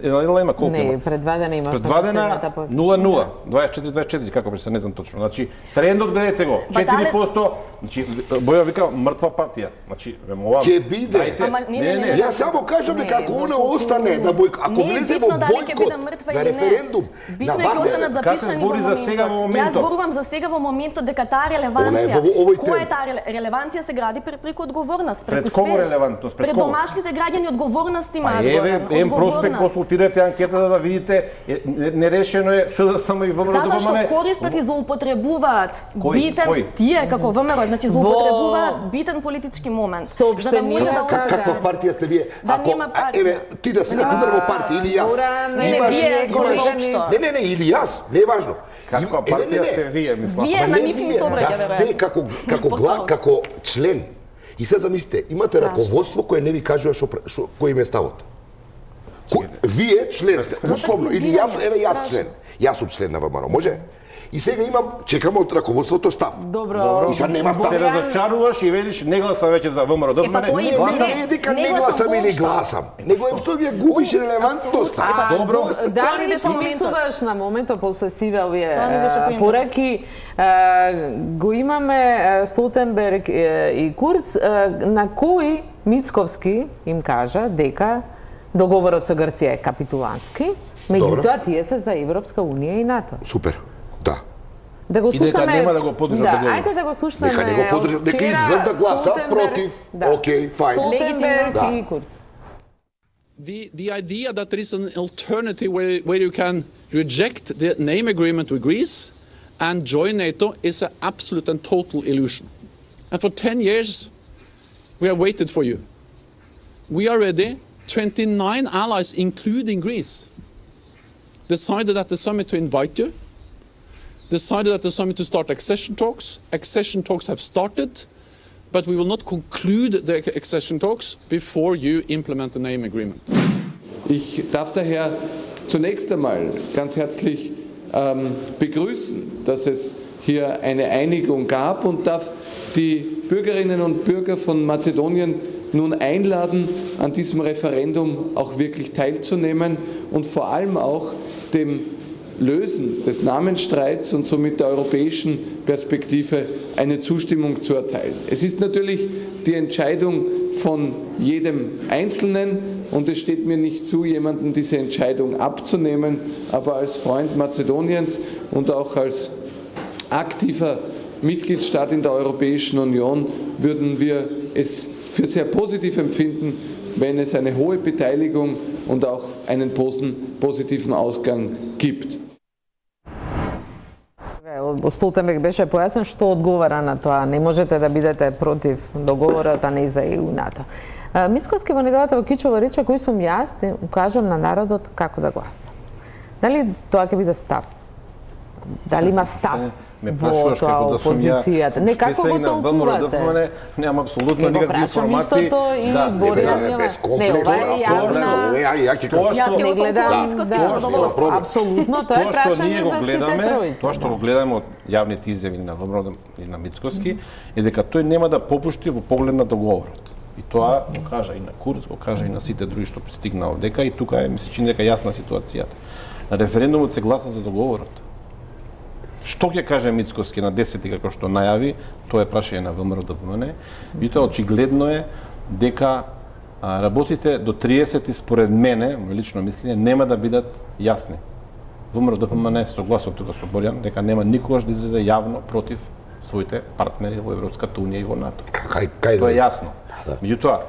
една недела има колку има? Не, пред два дена има. Пред два дена нула нула, дваесет и четири дваесет и четири, како би се не знам точно. Значи, трендот гледате го, четири проценти, значи Боја вика мртва партија. Значи, ова ќе биде. Ама не, не, не. Јас само кажам дека ако она остане да бој, ако влезе во бојкот на референдум, битно е ќе останат запишани во моментот. Јас зборувам за сега во моментот дека таа релеванција, која е таа релеванција се гради преку одговорност, преку свест. Пред кого релевантност? Пред домашните граѓани одговорност имаат. Еве, Ем проспект консултирате анкетата да видите, нерешено е С Д С М и ВМРО да Затоа што користат и злоупотребуваат битен тие како ВМРО, значи злоупотребуваат битен политички момент. За да може да каква партија сте вие? Ако еве ти да си на пример во партија или јас. Имаш Не, не, не, или јас, не е важно. Каква партија сте вие, мислам? Вие на нив ни се обраќате. Да сте како како како член. И се замислите, имате раководство кое не ви кажува што кој им е ставот. Вие член сте, условно, или јас, еве јас член. Јас сум член на ВМРО, може? И сега имам, чекам од раководството став. Добро. И сега нема став. Се разочаруваш и велиш не гласам веќе за ВМРО. Е, па тој е гласам и дека не гласам или гласам. Него е што вие губиш релевантност. Добро. Дали не помислуваш на моментот после сиве овие пораки го имаме Столтенберг и Курц на кој Мицковски им кажа дека договорот со Грција е капитулантски, меѓутоа тие се за Европска унија и НАТО. Супер. Да. Да го слушнаме. И дека нема да го поддржат да, договорот. ајде да го слушнаме. Нека не го поддржат, дека излез да гласа против. Океј, фајн. Столтенберг и Курц. The, the idea that there is an alternative where, where you can reject the name agreement with Greece and join NATO is an absolute and total illusion. And for ten years, we have waited for you. We are ready. twenty-nine allies, including Greece, decided at the summit to invite you, decided at the summit to start accession talks. Accession talks have started, but we will not conclude the accession talks before you implement the name agreement. Ich darf daher zunächst einmal ganz herzlich ähm, begrüßen, dass es hier eine Einigung gab und darf die Bürgerinnen und Bürger von Mazedonien nun einladen, an diesem Referendum auch wirklich teilzunehmen und vor allem auch dem Lösen des Namensstreits und somit der europäischen Perspektive eine Zustimmung zu erteilen. Es ist natürlich die Entscheidung von jedem Einzelnen und es steht mir nicht zu, jemandem diese Entscheidung abzunehmen, aber als Freund Mazedoniens und auch als aktiver Mitgliedstaat in der Europäischen Union würden wir es für sehr positiv empfinden, wenn es eine hohe Beteiligung und auch einen positiven Ausgang gibt. Столтенберг беше појаснен што одговара на тоа. Не можете да бидете против договорот, а не за Е У НАТО. Мицкоски во неделата во Кичево рече кој сум јас, да укажам на народот како да гласа. Дали тоа ќе биде став? Дали има став? во тоа опозицијата? Не, како го толкувате? Немам апсолутно никакви информации. Да, не, ова е јавна... Тоа што не гледам, апсолутно, тоа е прашање. Тоа што ние го Василе гледаме, Петровиќ. тоа што го гледаме од јавните изјави на ВМРО и на Мицкоски, е дека тој нема да попушти во поглед на договорот. И тоа го кажа и на Курц, го кажа и на сите други што пристигнаа овдека, и тука е, ми се чини дека јасна ситуацијата. На референдумот се гласа за договорот. Што ќе каже Мицкоски на десети како што најави, тоа е прашање на ВМРО-ДПМН. И тоа очигледно е дека а, работите до триесети според мене, мој лично мислење, нема да бидат јасни. ВМРО-ДПМН е согласно тука со Борјан дека нема никогаш да излезе јавно против своите партнери во Европската унија и во НАТО. Кај, кај Тоа е јасно. Да. Меѓутоа,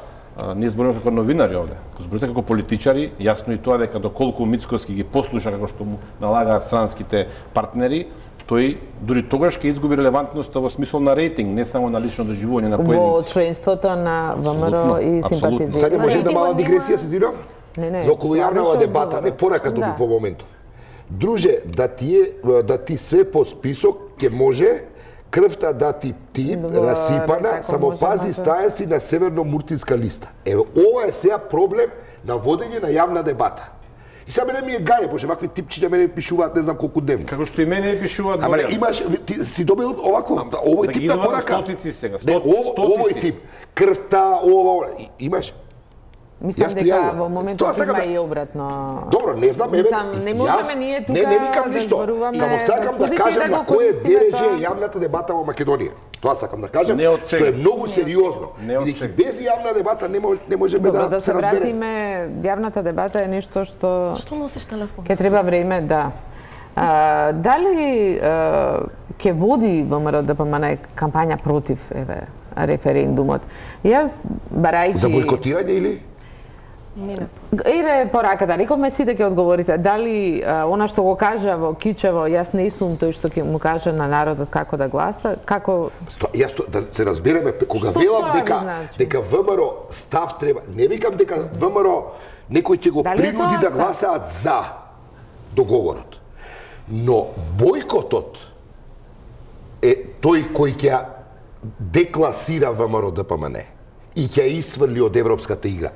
ние збориме како новинари овде, зборите како политичари, јасно и тоа дека доколку Мицкоски ги послуша како што му налагаат странските партнери, тој дури тогаш ќе изгуби релевантноста во смисол на рейтинг, не само на лично доживување на поединци. Во членството на ВМРО и симпатизирани. Сега може да мала дигресија се зирам? Не, не. За околу јавнава дебата, не порака добив во моментов. Друже, да ти е, да ти све по список ќе може крвта да ти ти расипана, само пази стаја си на северно-муртинска листа. Еве, ова е сега проблем на водење на јавна дебата. И сега мене ми е гаје, пошто вакви типчиња мене пишуваат не знам колку дневно. Како што и мене пишуваат. Ама не, имаш, ти си добил овако, овој тип на порака. Стотици сега, Не, овој тип, крвта, ова, ова, имаш. Мислам дека во моментот има и обратно. Добро, не знам, еве. Не можеме ние тука не, не викам да ништо. зборуваме. Само сакам да кажам на кој е дереже јавната дебата во Македонија. Тоа сакам да кажам, што е многу сериозно. Бидејќи без јавна дебата не може не можеме Добро, да да се вратиме, јавната дебата е нешто што Што носиш телефон? Ке треба време, да. А, дали а, ке води ВМРО-ДПМН кампања против еве референдумот? Јас барајќи За бойкотирање или? Не, не. Еве пораката, рековме сите ќе одговорите. Дали а, она што го кажа во Кичево, јас не сум тој што ќе му каже на народот како да гласа, како Сто, јас то, да се разбереме, кога Што велам тоа дека значи? дека ВМРО став треба, не викам дека ВМРО некој ќе го Дали е принуди тоа да став? гласаат за договорот. Но бойкотот е тој кој ќе декласира ВМРО-ДПМН и ќе исфрли од европската игра.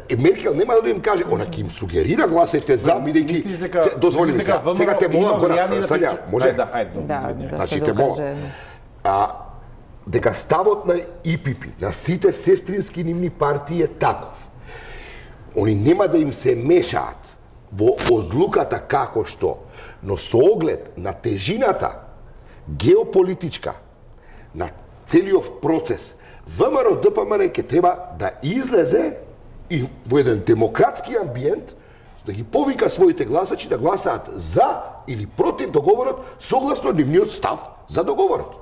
Е, Меркел нема да им каже, она ќе им сугерира гласете за, бидејќи Мислиш дека дозволи ми сега, сега те молам гора, Сања, може? Да, ајде, да, извини. да Значи се те молам. докаже. А дека ставот на И Пи Пи, на сите сестрински нивни партии е таков. Они нема да им се мешаат во одлуката како што, но со оглед на тежината геополитичка на целиот процес, ВМРО-ДПМН ќе треба да излезе и во еден демократски амбиент да ги повика своите гласачи да гласаат за или против договорот согласно нивниот став за договорот.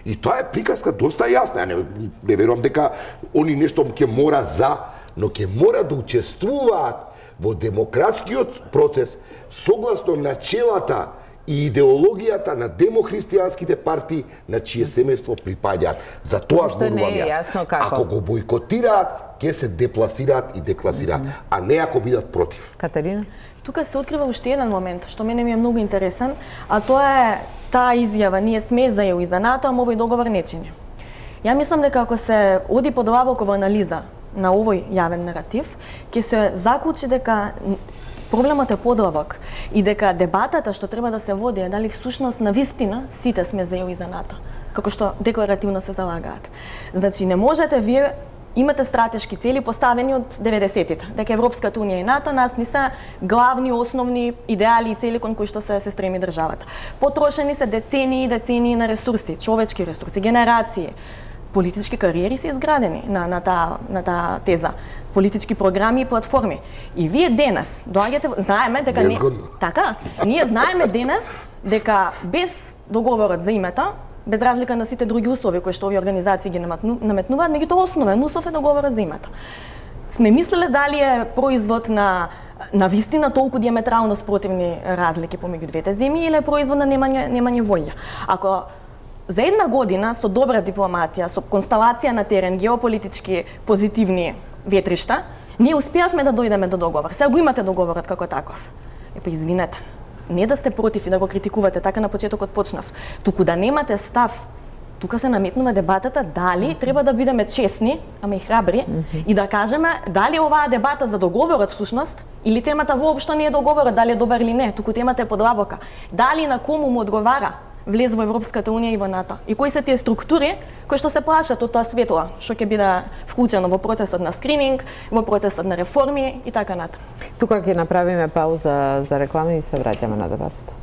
И тоа е приказка доста јасна. Ја не, не верувам дека они нешто ќе мора за но ќе мора да учествуваат во демократскиот процес согласно начелата и идеологијата на демохристијанските партии на чие семејство припаѓаат. За тоа зборувам јас. Ако го бойкотираат, ќе се депласираат и декласираат, mm -hmm. а не ако бидат против. Катерина? Тука се открива уште еден момент, што мене ми е многу интересен, а тоа е таа изјава, ние сме за ЕУ и за НАТО, ама овој договор не чини. Ја мислам дека ако се оди подлабоко во анализа на овој јавен наратив, ќе се заклучи дека проблемот е подлабок и дека дебатата што треба да се води е дали всушност на вистина сите сме за ЕУ и за НАТО, како што декларативно се залагаат. Значи не можете вие имате стратешки цели поставени од деветдесетите, дека Европската унија и НАТО нас не се главни, основни идеали и цели кон кои што се, се стреми државата. Потрошени се децении и децении на ресурси, човечки ресурси, генерации. Политички кариери се изградени на, на, таа, на таа теза. Политички програми и платформи. И вие денес доаѓате, знаеме дека не, така, ние знаеме денес дека без договорот за името, без разлика на сите други услови кои што овие организации ги наметнуваат, меѓутоа основен услов е договорот за името. Сме мислеле дали е производ на на вистина толку диаметрално спротивни разлики помеѓу двете земји или е производ на немање немање волја. Ако за една година со добра дипломатија, со констелација на терен, геополитички позитивни ветришта, ние успеавме да дојдеме до договор. Сега го имате договорот како таков. Епа извинете, не да сте против и да го критикувате, така на почетокот почнав, туку да немате став. Тука се наметнува дебатата дали треба да бидеме честни, ама и храбри, mm-hmm. и да кажеме дали оваа дебата за договорот всушност или темата воопшто не е договорот, дали е добар или не, туку темата е подлабока. Дали на кому му одговара влез во Европската унија и во НАТО. И кои се тие структури кои што се плашат од тоа светло, што ќе биде вклучено во процесот на скрининг, во процесот на реформи и така натаму. Тука ќе направиме пауза за реклами и се враќаме на дебатата.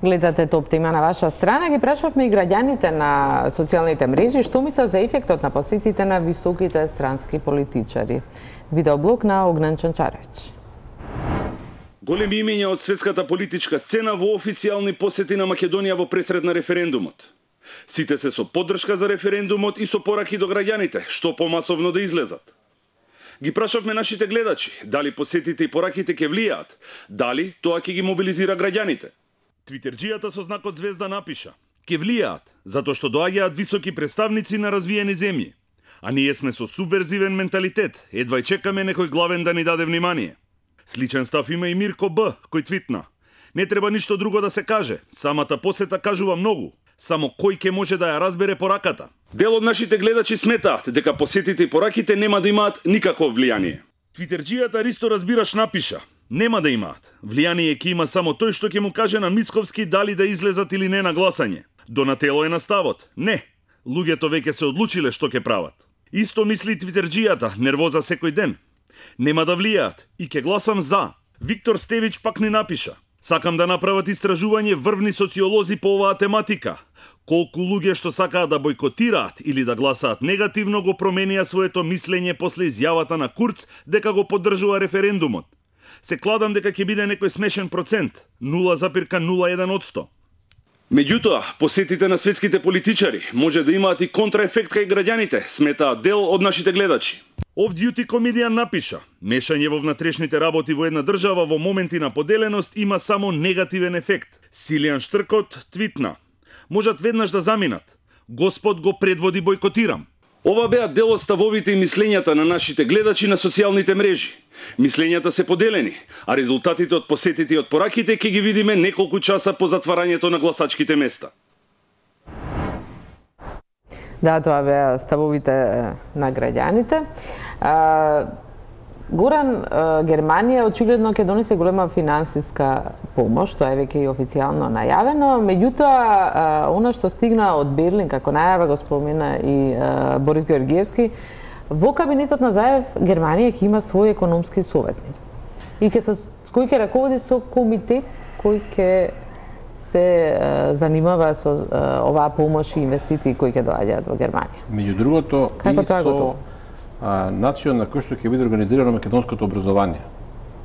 Гледате Топ тема на ваша страна. Ги прашавме и граѓаните на социјалните мрежи што мислат за ефектот на посетите на високите странски политичари. Видеоблог на Огнен Чанчаревич. Големи имења од светската политичка сцена во официјални посети на Македонија во пресред на референдумот. Сите се со поддршка за референдумот и со пораки до граѓаните, што помасовно да излезат. Ги прашавме нашите гледачи, дали посетите и пораките ќе влијаат, дали тоа ќе ги мобилизира граѓаните. Твитерџијата со знакот звезда напиша: ќе влијаат, затоа што доаѓаат високи представници на развиени земји. А ние сме со субверзивен менталитет, едва чекаме некој главен да ни даде внимание. Сличен став има и Мирко Б, кој твитна: не треба ништо друго да се каже, самата посета кажува многу, само кој ќе може да ја разбере пораката. Дел од нашите гледачи сметаат дека посетите и пораките нема да имаат никакво влијание. Твитерџијата Ристо Разбираш напиша: нема да имаат. Влијание ќе има само тој што ќе му каже на Мицковски дали да излезат или не на гласање. Донатело е на ставот: не, луѓето веќе се одлучиле што ќе прават. Исто мисли Твитерџијата, нервоза секој ден. Нема да влијаат и ќе гласам за. Виктор Стевич пак ни напиша: сакам да направат истражување врвни социолози по оваа тематика. Колку луѓе што сакаат да бойкотираат или да гласаат негативно го променија своето мислење после изјавата на Курц дека го поддржува референдумот. Се кладам дека ќе биде некој смешен процент, нула запирка нула еден одсто. Меѓутоа, посетите на светските политичари може да имаат и контраефект кај граѓаните, сметаат дел од нашите гледачи. Off Duty Comedian напиша: мешање во внатрешните работи во една држава во моменти на поделеност има само негативен ефект. Силијан Штркот твитна: можат веднаш да заминат. Господ го предводи бойкотирам. Ова беа дел од ставовите и мислењата на нашите гледачи на социјалните мрежи. Мислењата се поделени, а резултатите од посетите и од пораките ќе ги видиме неколку часа по затварањето на гласачките места. Да, тоа беа ставовите на граѓаните. А, Горан, Германија очигледно ќе донесе голема финансиска помош, тоа е веќе и официјално најавено, меѓутоа она што стигна од Берлин како најава го спомена и а, Борис Георгиевски, во кабинетот на Заев Германија ќе има свој економски советник и ќе се кој ќе раководи со комитет кој ќе се а, занимава со а, оваа помош и инвестиции кои ќе доаѓаат во Германија. Меѓу другото како и со а, начин на кој што ќе биде организирано македонското образование.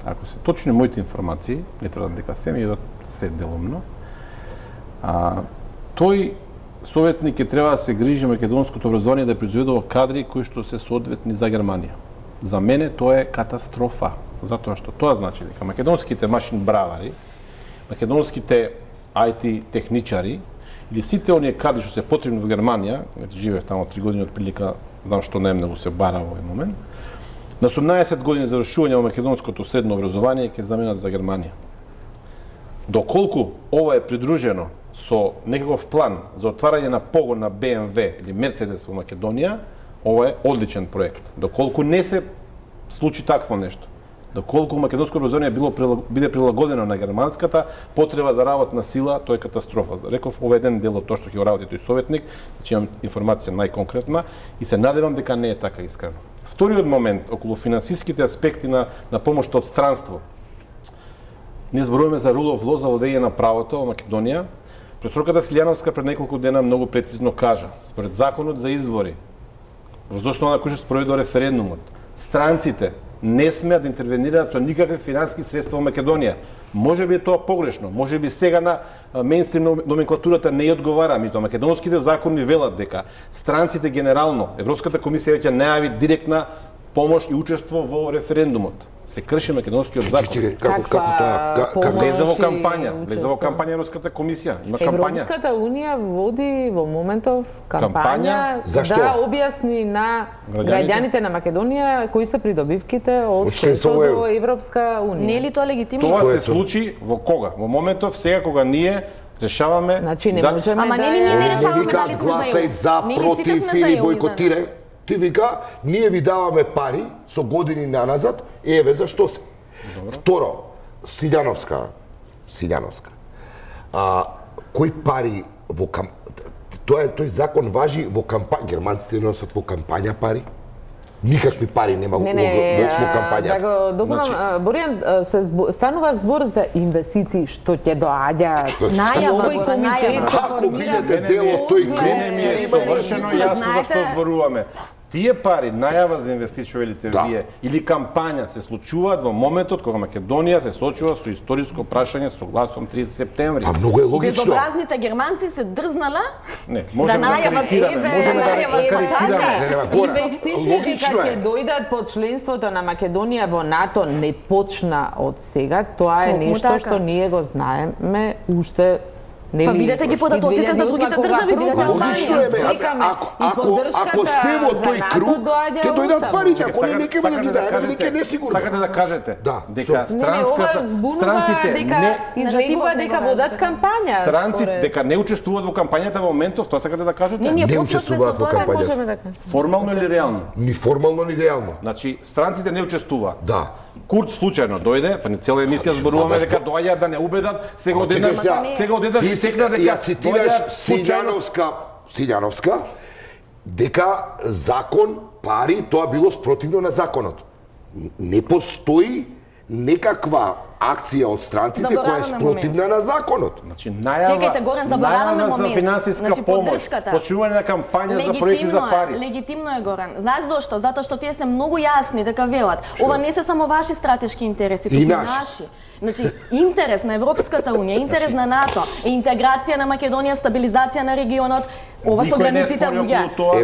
Ако се точни моите информации, не тврдам дека се, меѓутоа се делумно, а, тој советник ќе треба да се грижи македонското образование да произведува кадри кои што се соодветни за Германија. За мене тоа е катастрофа, затоа што тоа значи дека македонските машин бравари, македонските ај ти техничари или сите оние кадри што се потребни во Германија, живеев таму три години отприлика, знам што најмногу се бара во овој момент, на осумнаесет години завршување во македонското средно образование ќе заменат за Германија. Доколку ова е придружено со некаков план за отварање на погон на Бе Ем Ве или Мерцедес во Македонија, ова е одличен проект. Доколку не се случи такво нешто, доколку македонско образование било биде прилагодено на германската потреба за работна сила, тоа е катастрофа. Реков, ова е еден дел од тоа што ќе го работи тој советник, значи имам информација најконкретна и се надевам дека не е така искрено. Вториот момент околу финансиските аспекти на на помошта од странство. Не зборуваме за rule of law за владење на правото во Македонија. Професорката Силјановска пред неколку дена многу прецизно кажа, според законот за избори, во основа на кој што спроведува референдумот, странците не смеат да интервенираат со никакви финансиски средства во Македонија. Може би е тоа погрешно, може би сега на мејнстрим номенклатурата не ја одговара, меѓутоа македонските закони велат дека странците генерално, Европската комисија веќе најави директна помош и учество во референдумот. Се крши македонскиот закон. Чекај, како како тоа? Како влезе во кампања, влезе во кампања Европската комисија. Има кампања. Европската унија води во моментов кампања да објасни на граѓаните на Македонија кои се придобивките од членство во Европска унија. Не е ли тоа легитимно? Тоа се случи во кога? Во моментов сега кога ние решаваме значи не можеме да. Ама нели ние не решаваме дали сме за EU. За, против или бойкотирај. Ти вика, ние ви даваме пари со години наназад, еве зашто се. Добро. Второ, Силјановска, Силјановска. А кои пари во кам... Тоа е тој закон важи во кампања, германците носат во кампања пари. Никакви пари нема не, не, во кампања. Да го допунам, значи... Боријан, се збо, станува збор за инвестиции што ќе доаѓаат. Најава, најава. Ако бидете дел од тој клуб, ми е совршено јасно за што зборуваме. Тие пари, најава за инвестиции велите да. Вие, или кампања се случуваат во моментот кога Македонија се соочува со историско прашање согласно тридесет септември. А многу е логично. Безобразните германци се дрзнала не, можеме да, да карикираме, можеме да карикираме. Инвестициите кога ќе дојдат под членството на Македонија во НАТО не почна од сега, тоа е нешто што ние го знаеме уште. Па видете ги податоците за другите држави, видете Албанија. Ако ако ако сте во тој круг, ќе дојдат парите, ако не ќе да ги даде, веќе не сигурно. Сакате да кажете да, дека странската странците не изгледува дека водат кампања. Странците дека не учествуваат во кампањата во моментов, тоа сакате да кажете? Не учествуваат во кампањата. Формално или реално? Ни формално ни реално. Значи странците не учествуваат. Да. Курт случајно дојде, па не цела емисија зборуваме дека доаѓаат да не убедат, сега одеднаш сега одеднаш и секна дека ја цитираш Силјановска, Силјановска дека закон, пари, тоа било спротивно на законот. Не постои некаква акција од странците која е спротивна на законот. Значи најава, чекајте, Горан, забораваме момент. За финансиска значи, помош, почнување на кампања за проекти за пари. Легитимно е, Горан. Знаеш зошто? Затоа што тие се многу јасни дека велат. Ова не се само ваши стратешки интереси, туку наши. Значи, интерес на Европската унија, интерес на НАТО, е интеграција на Македонија, стабилизација на регионот, ова со границите луѓе.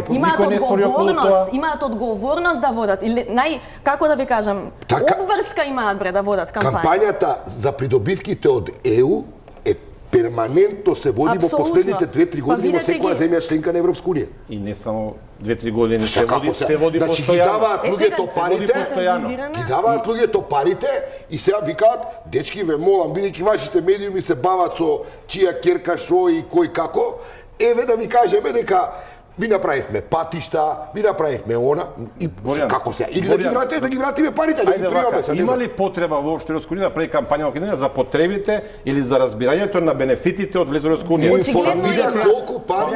Имаат одговорност, имаат одговорност да водат или нај како да ви кажам, така, обврска имаат бре да водат кампања. Кампањата за придобивките од Е У е перманентно се води во последните две-три години во секоја земја членка на Европска унија. И не само две-три години се води, се води значи, постојано. Ги даваат луѓето парите, ги даваат луѓето парите и сега викаат, дечки ве молам, бидејќи вашите медиуми се бават со чија керка шо и кој како, еве да ви кажеме дека ви направивме патишта, ви направивме она и Боријан, како се или Боријан, да ги вратиме, да ги вратиме парите, да ги примаме. Има ли потреба воопшто Европска унија да прави кампања во Македонија за потребите или за разбирањето на бенефитите од влез во Европска унија? Видете колку пари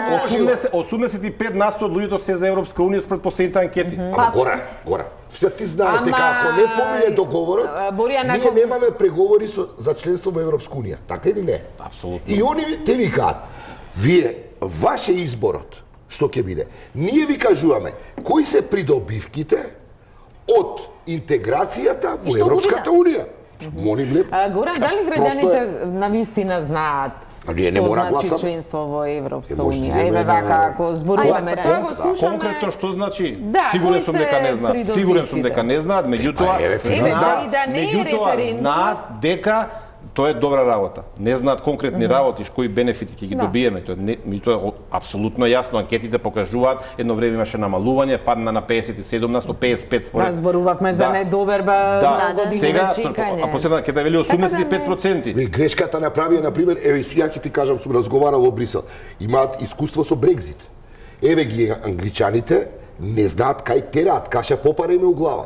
осумдесет и пет на сто од луѓето се за Европска унија според последните анкети. Ама гора, гора. Се ти знаеш дека ако не помине договорот, ние немаме преговори за членство во Европска унија. Така или не? Апсолутно. И они те викаат, вие ваше изборот што ќе биде. Ние ви кажуваме кои се придобивките од интеграцијата во Европската унија. Молим лепо. Горан, дали граѓаните на вистина знаат А ние не мора значи гласаме. членство во Европска Е, може унија. да Еве има вака на- ако зборуваме Ајде, тоа го да. слушаме. Конкретно што значи? Да, Сигурен кои сум се дека не знаат. Сигурен сум придобивките? дека не знаат, меѓутоа Па, еве, Еве, знаат, да и да не е меѓутоа референдум. знаат дека тоа е добра работа. Не знаат конкретни работи, кои бенефити ќе ги Да. добиеме. Тоа не, меѓутоа апсолутно јасно, анкетите покажуваат, едно време имаше намалување, падна на песет и седум на сто, песет и пет според. Да, зборувавме за Да. недоверба, Да, многу години сега, на чекање. а последна ќе да вели осумдесет и пет проценти. Ве грешката направија на пример, еве ја ќе ти кажам, сум разговарал во Брисел. Имаат искуство со Брекзит. Еве ги англичаните не знаат кај тераат, каша попара им е у глава.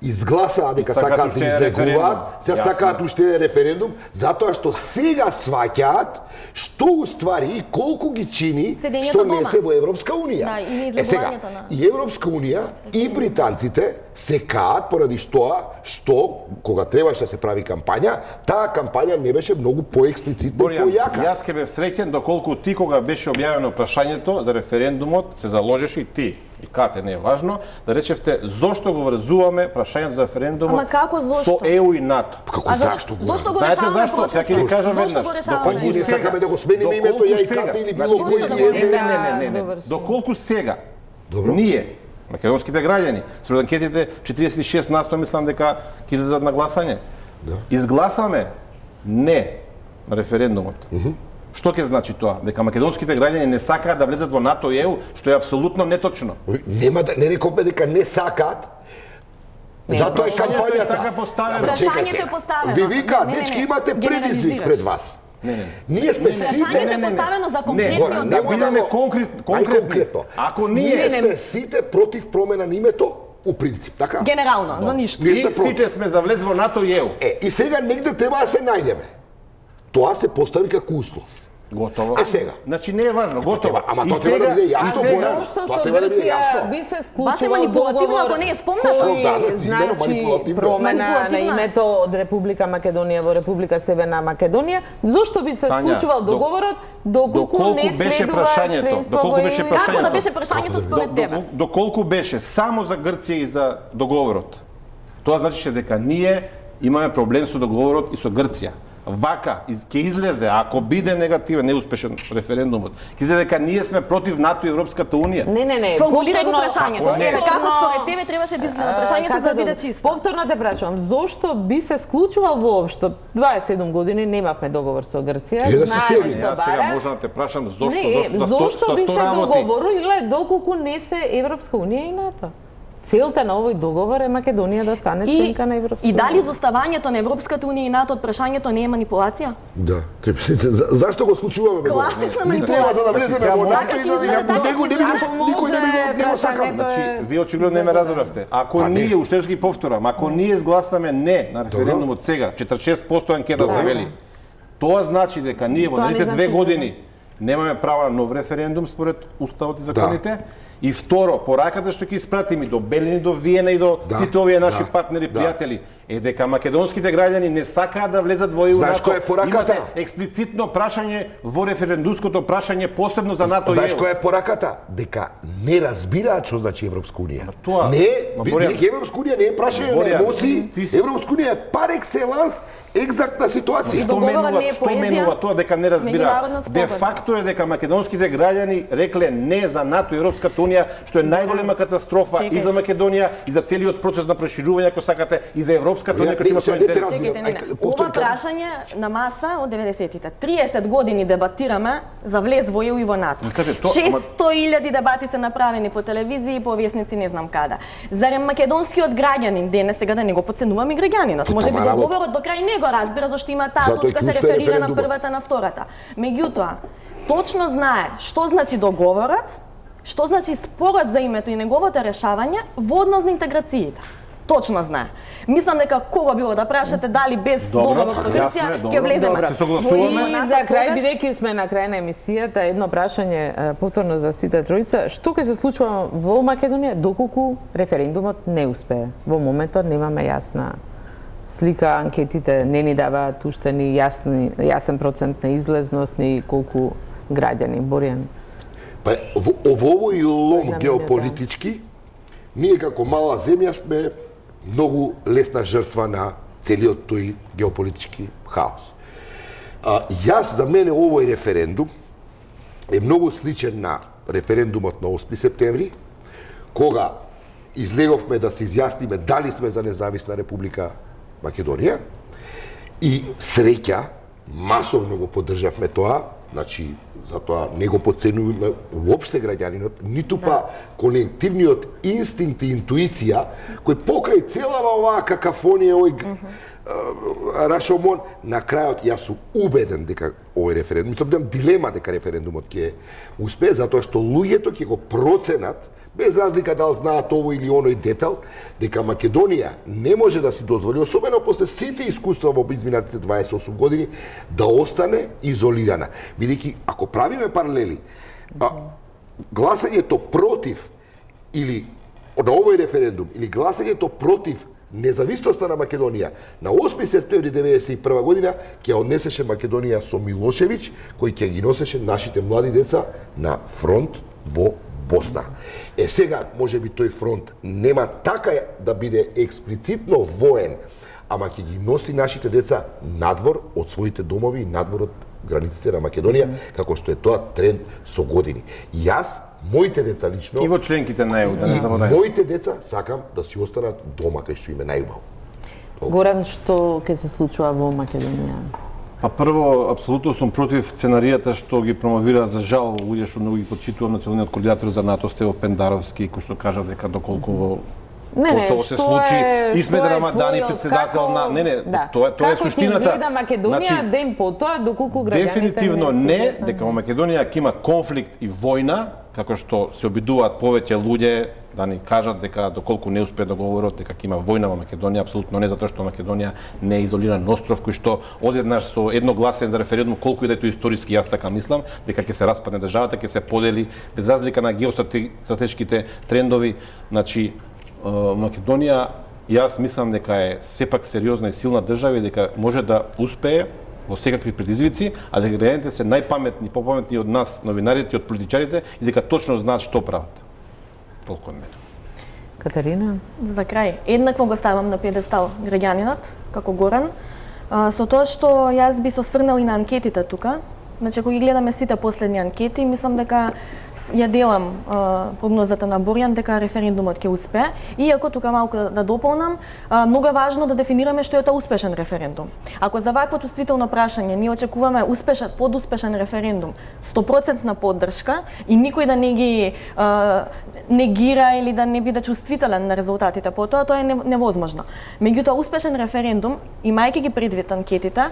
Изгласаа дека Сакаат сакаат уште да еден излегуваат, референдум. се Јасно. сакаат уште еден референдум, затоа што сега сваќаат што уствари и колку ги чини Седењето што не дома. се во Европска унија. Да, и Е сега, неизлегувањето на- и Европска унија и британците се каат поради што што кога требаше да се прави кампања, таа кампања не беше многу поексплицитна и Борјан, појака. јас ќе бев среќен доколку ти кога беше објавено прашањето за референдумот се заложеше и ти и Кате не е важно да речевте зошто го врзуваме прашањето за референдумот Ама како зошто? со ЕУ и НАТО. Како А заш- зашто го? зашто го Знаете решаваме зашто? процесот? Сега ќе ви кажам Зошто веднаш. го решаваме? Доколку Ние сега- сакаме да го смениме името доколку ја и сега- Кате или било Зошто кој да или го ес де ес. Не, не, не, не, не. Доврши. Доколку сега Добро. ние македонските граѓани според анкетите четириесет и шест на сто мислам дека ќе излезат на гласање. Да. Изгласаме не на референдумот. Што ќе значи тоа? Дека македонските граѓани не сакаат да влезат во НАТО и ЕУ, што е апсолутно неточно. Нема да не рековме дека не сакаат. Затоа е прашањето е кампањата. така поставено. Ама чекај Прашањето сега. е поставено. Ви викаат, Не, не, не, дечки имате предизвик генерализираш. пред вас. Не, не, не. Ние сме Прашањето сите е поставено за Не, конкретни Гора, одговори. да немој бидеме го- конкрет- конкретни. најконкретно. Ако ние ние сме сите против промена на името у принцип, така? Генерално, за ништо. Ние сме и против. сите сме за влез во НАТО и ЕУ. Е, и сега негде треба да се најдеме. Тоа се постави како услов. Готово. А сега? Значи не е важно, готово. треба- ама И тоа треба да сега- биде и јасно, сега- Борјан. Зошто Тоа со треба да биде Грција јасно. би се Баш е склучувал манипулативно, договор ако не е спомнато. кој, Да, да, имено значи манипулативно. промена на Манипулативно е. името од Република Македонија во Република Северна Македонија, зошто би се Сања, склучувал док- договорот доколку доколку не беше следува прашањето, членство доколку во беше ЕУ? прашањето. Како да беше прашањето Како да- според тебе? До- Доколку беше само за Грција и за договорот, тоа значише дека ние имаме проблем со договорот и со Грција. Вака из- ќе излезе, ако биде негативен, неуспешен референдумот, ќе излезе дека ние сме против НАТО и Европската унија. Не, не, не. Формулира го повторно- прашањето. Како не? Еве како според тебе требаше да изгледа прашањето Како за да биде да- чисто? Повторно те прашувам, зошто би се склучувал воопшто? дваесет и седум години немавме договор со Грција. Е, да се знаеме сели. што Јас сега бара. можам да те прашам зошто, Не, зошто, за сто- зошто за би сто се работи. договориле доколку не се Европска унија и НАТО? Целта на овој договор е Македонија да стане И, членка на Европска и дали унија. изоставањето на Европската унија и НАТО од прашањето не е манипулација? Да. Треба- за- Зашто го склучуваме? бе, Гора? Класична Ни треба за да манипулација. влеземе Сега во може- НАТО и да Така него ќе него не би изгледа. го никој не би го не го сакам. Може, Значи, е- вие очигледно не ме разбравте. Ако Па не. ние, уште ќе ги повторам, ако ние изгласаме не на референдумот сега, четиридесет и шест проценти анкетата Добро. вели, тоа значи дека ние во Тоа не наредните две значи години немаме право на нов референдум според уставот и законите. И второ, пораката што ќе испратиме до Белин и до Виена и до Да, сите овие наши да, партнери, да. пријатели, е дека македонските граѓани не сакаат да влезат во ЕУ. Знаеш НАТО. која е пораката? Имате експлицитно прашање во референдумското прашање посебно за НАТО и Знаеш ЕУ. која е пораката? Дека не разбираат што значи Европска унија. тоа- Не, Ма, би- Борјан- бидејќи Европска унија не е прашање на Борјан, емоции, ти си- Европска унија е пар екселанс екзактна ситуација. И Што договорот менува, не е што поезија, менува тоа дека не разбира? меѓународна спогодба. Де факто е дека македонските граѓани рекле не за НАТО и Европската унија, што е најголема катастрофа Чекајте. и за Македонија и за целиот процес на проширување, ако сакате, и за Европската унија, Ја, кој има не, свој не те интерес. разбирам. Чекайте, не, не. Ајде, Ова повтори, кажи. прашање на маса од деветдесетите. триесет години дебатираме за влез во ЕУ и во НАТО. Ма каде, тоа- шестоста илјади дебати се направени по телевизија, по весници, не знам каде. Зарем македонскиот граѓанин денес, сега да не го подценуваме граѓанинот. Може би Ама, работа. договорот до крај не го разбира зашто има таа Затоа и точка се ќе успее реферира на референдумот. првата, на втората. Меѓутоа, точно знае што значи договорот, што значи спорот за името и неговото решавање во однос на интеграциите. Точно знае. Мислам дека кого било да прашате дали без Добро, договор со јасно Грција е, добро. ќе влеземе. Добро. Се согласуваме. Во И НАТО, за крај, тогаш- бидејќи сме на крај на емисијата, едно прашање е, повторно за сите тројца, што ќе се случува во Македонија доколку референдумот не успее? Во моментот немаме јасна слика, анкетите не ни даваат уште ни јасни, јасен процент на излезност, ни колку граѓани. Борјан. Па во во овој лом Една геополитички, ние како мала земја сме многу лесна жртва на целиот тој геополитички хаос. А, јас, за мене, овој референдум е многу сличен на референдумот на осми септември, кога излеговме да се изјасниме дали сме за независна Република Македонија и среќа, масовно го поддржавме тоа, значи, затоа не го подценуваме уопште граѓанинот, ниту па колективниот инстинкт и интуиција, кој покрај целава оваа какафонија, овој Рашомон, на крајот јас сум убеден дека овој референдум, мислам немам дилема дека референдумот ќе успее, затоа што луѓето ќе го проценат, без разлика дали знаат овој или оној детал, дека Македонија не може да си дозволи, особено после сите искуства во изминатите дваесет и осум години, да остане изолирана. Бидејќи, ако правиме паралели, а, гласањето против или на овој референдум, или гласањето против независноста на Македонија на осми септември деветдесет и прва година ќе однесеше Македонија со Милошевиќ, кој ќе ги носеше нашите млади деца на фронт во Босна. Е сега, може би тој фронт нема така да биде експлицитно воен, ама ќе ги носи нашите деца надвор од своите домови и надвор од границите на Македонија, како што е тоа тренд со години. Јас, моите деца лично... И во членките на ЕУ, да не забораваме. Моите деца сакам да си останат дома, кај што им е најубаво. Горан, што ќе се случува во Македонија? Па прво, апсолутно сум против сценаријата што ги промовира, за жал, луѓе што многу ги почитувам, националниот координатор за НАТО Стево Пендаровски, кој што кажа дека доколку Не, не, Косово се случи, е, Исмет Рамадани, твојот, председател како... на... Не, не, да. тоа, тоа е како суштината. Како ќе изгледа Македонија Значи, ден потоа, доколку граѓаните... Дефинитивно не, дека во Македонија ќе има конфликт и војна, како што се обидуваат повеќе луѓе да ни кажат дека доколку не успеат да говорат дека ќе има војна во Македонија, апсолутно не, затоа што Македонија не е изолиран остров кој што одеднаш со едно гласен за референдум, колку и да е тоа историски, јас така мислам, дека ќе се распадне државата, ќе се подели без разлика на геостратешките трендови, значи Македонија, јас мислам дека е сепак сериозна и силна држава и дека може да успее во секакви предизвици, а дека граѓаните се најпаметни, попаметни од нас, новинарите и од политичарите, и дека точно знаат што прават. Толку од мене. Катерина? За крај, еднакво го ставам на пиедестал граѓанинот, како Горан, со тоа што јас би се осврнал и на анкетите тука. Значи, ако ги гледаме сите последни анкети, мислам дека ја делам а, прогнозата на Борјан дека референдумот ќе успее. Иако тука малку да, да дополнам, а, многу е важно да дефинираме што е тоа успешен референдум. Ако за вакво чувствително прашање ние очекуваме успешен, подуспешен референдум, сто проценти поддршка и никој да не ги а, негира или да не биде чувствителен на резултатите по тоа, тоа е невозможно. Меѓутоа, успешен референдум, имајќи ги предвид анкетите,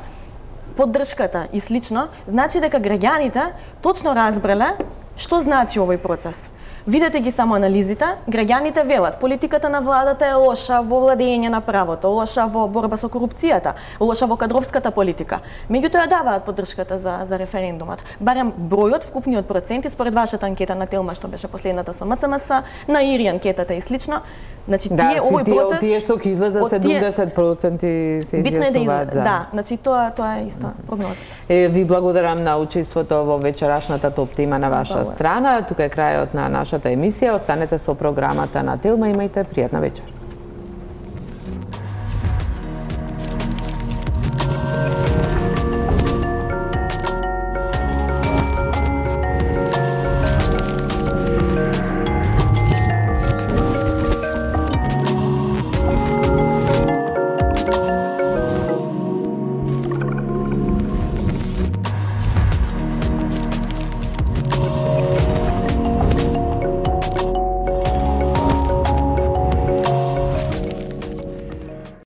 поддршката и слично, значи дека граѓаните точно разбрале што значи овој процес. Видете ги само анализите, граѓаните велат политиката на владата е лоша во владење на правото, лоша во борба со корупцијата, лоша во кадровската политика. Меѓутоа даваат поддршката за за референдумот. Барем бројот, вкупниот проценти според вашата анкета на Телма што беше последната со МЦМС, на Ири анкетата и слично. Значи да, тие овој тие, процес тие што ќе излезат седумдесет проценти се изјаснуваат за. Да, значи тоа тоа е исто прогноза. Е, ви благодарам на учеството во вечерашната топ тема на ваша страна. Тука е крајот на нашата емисија. Останете со програмата на Телма. Имајте пријатна вечер.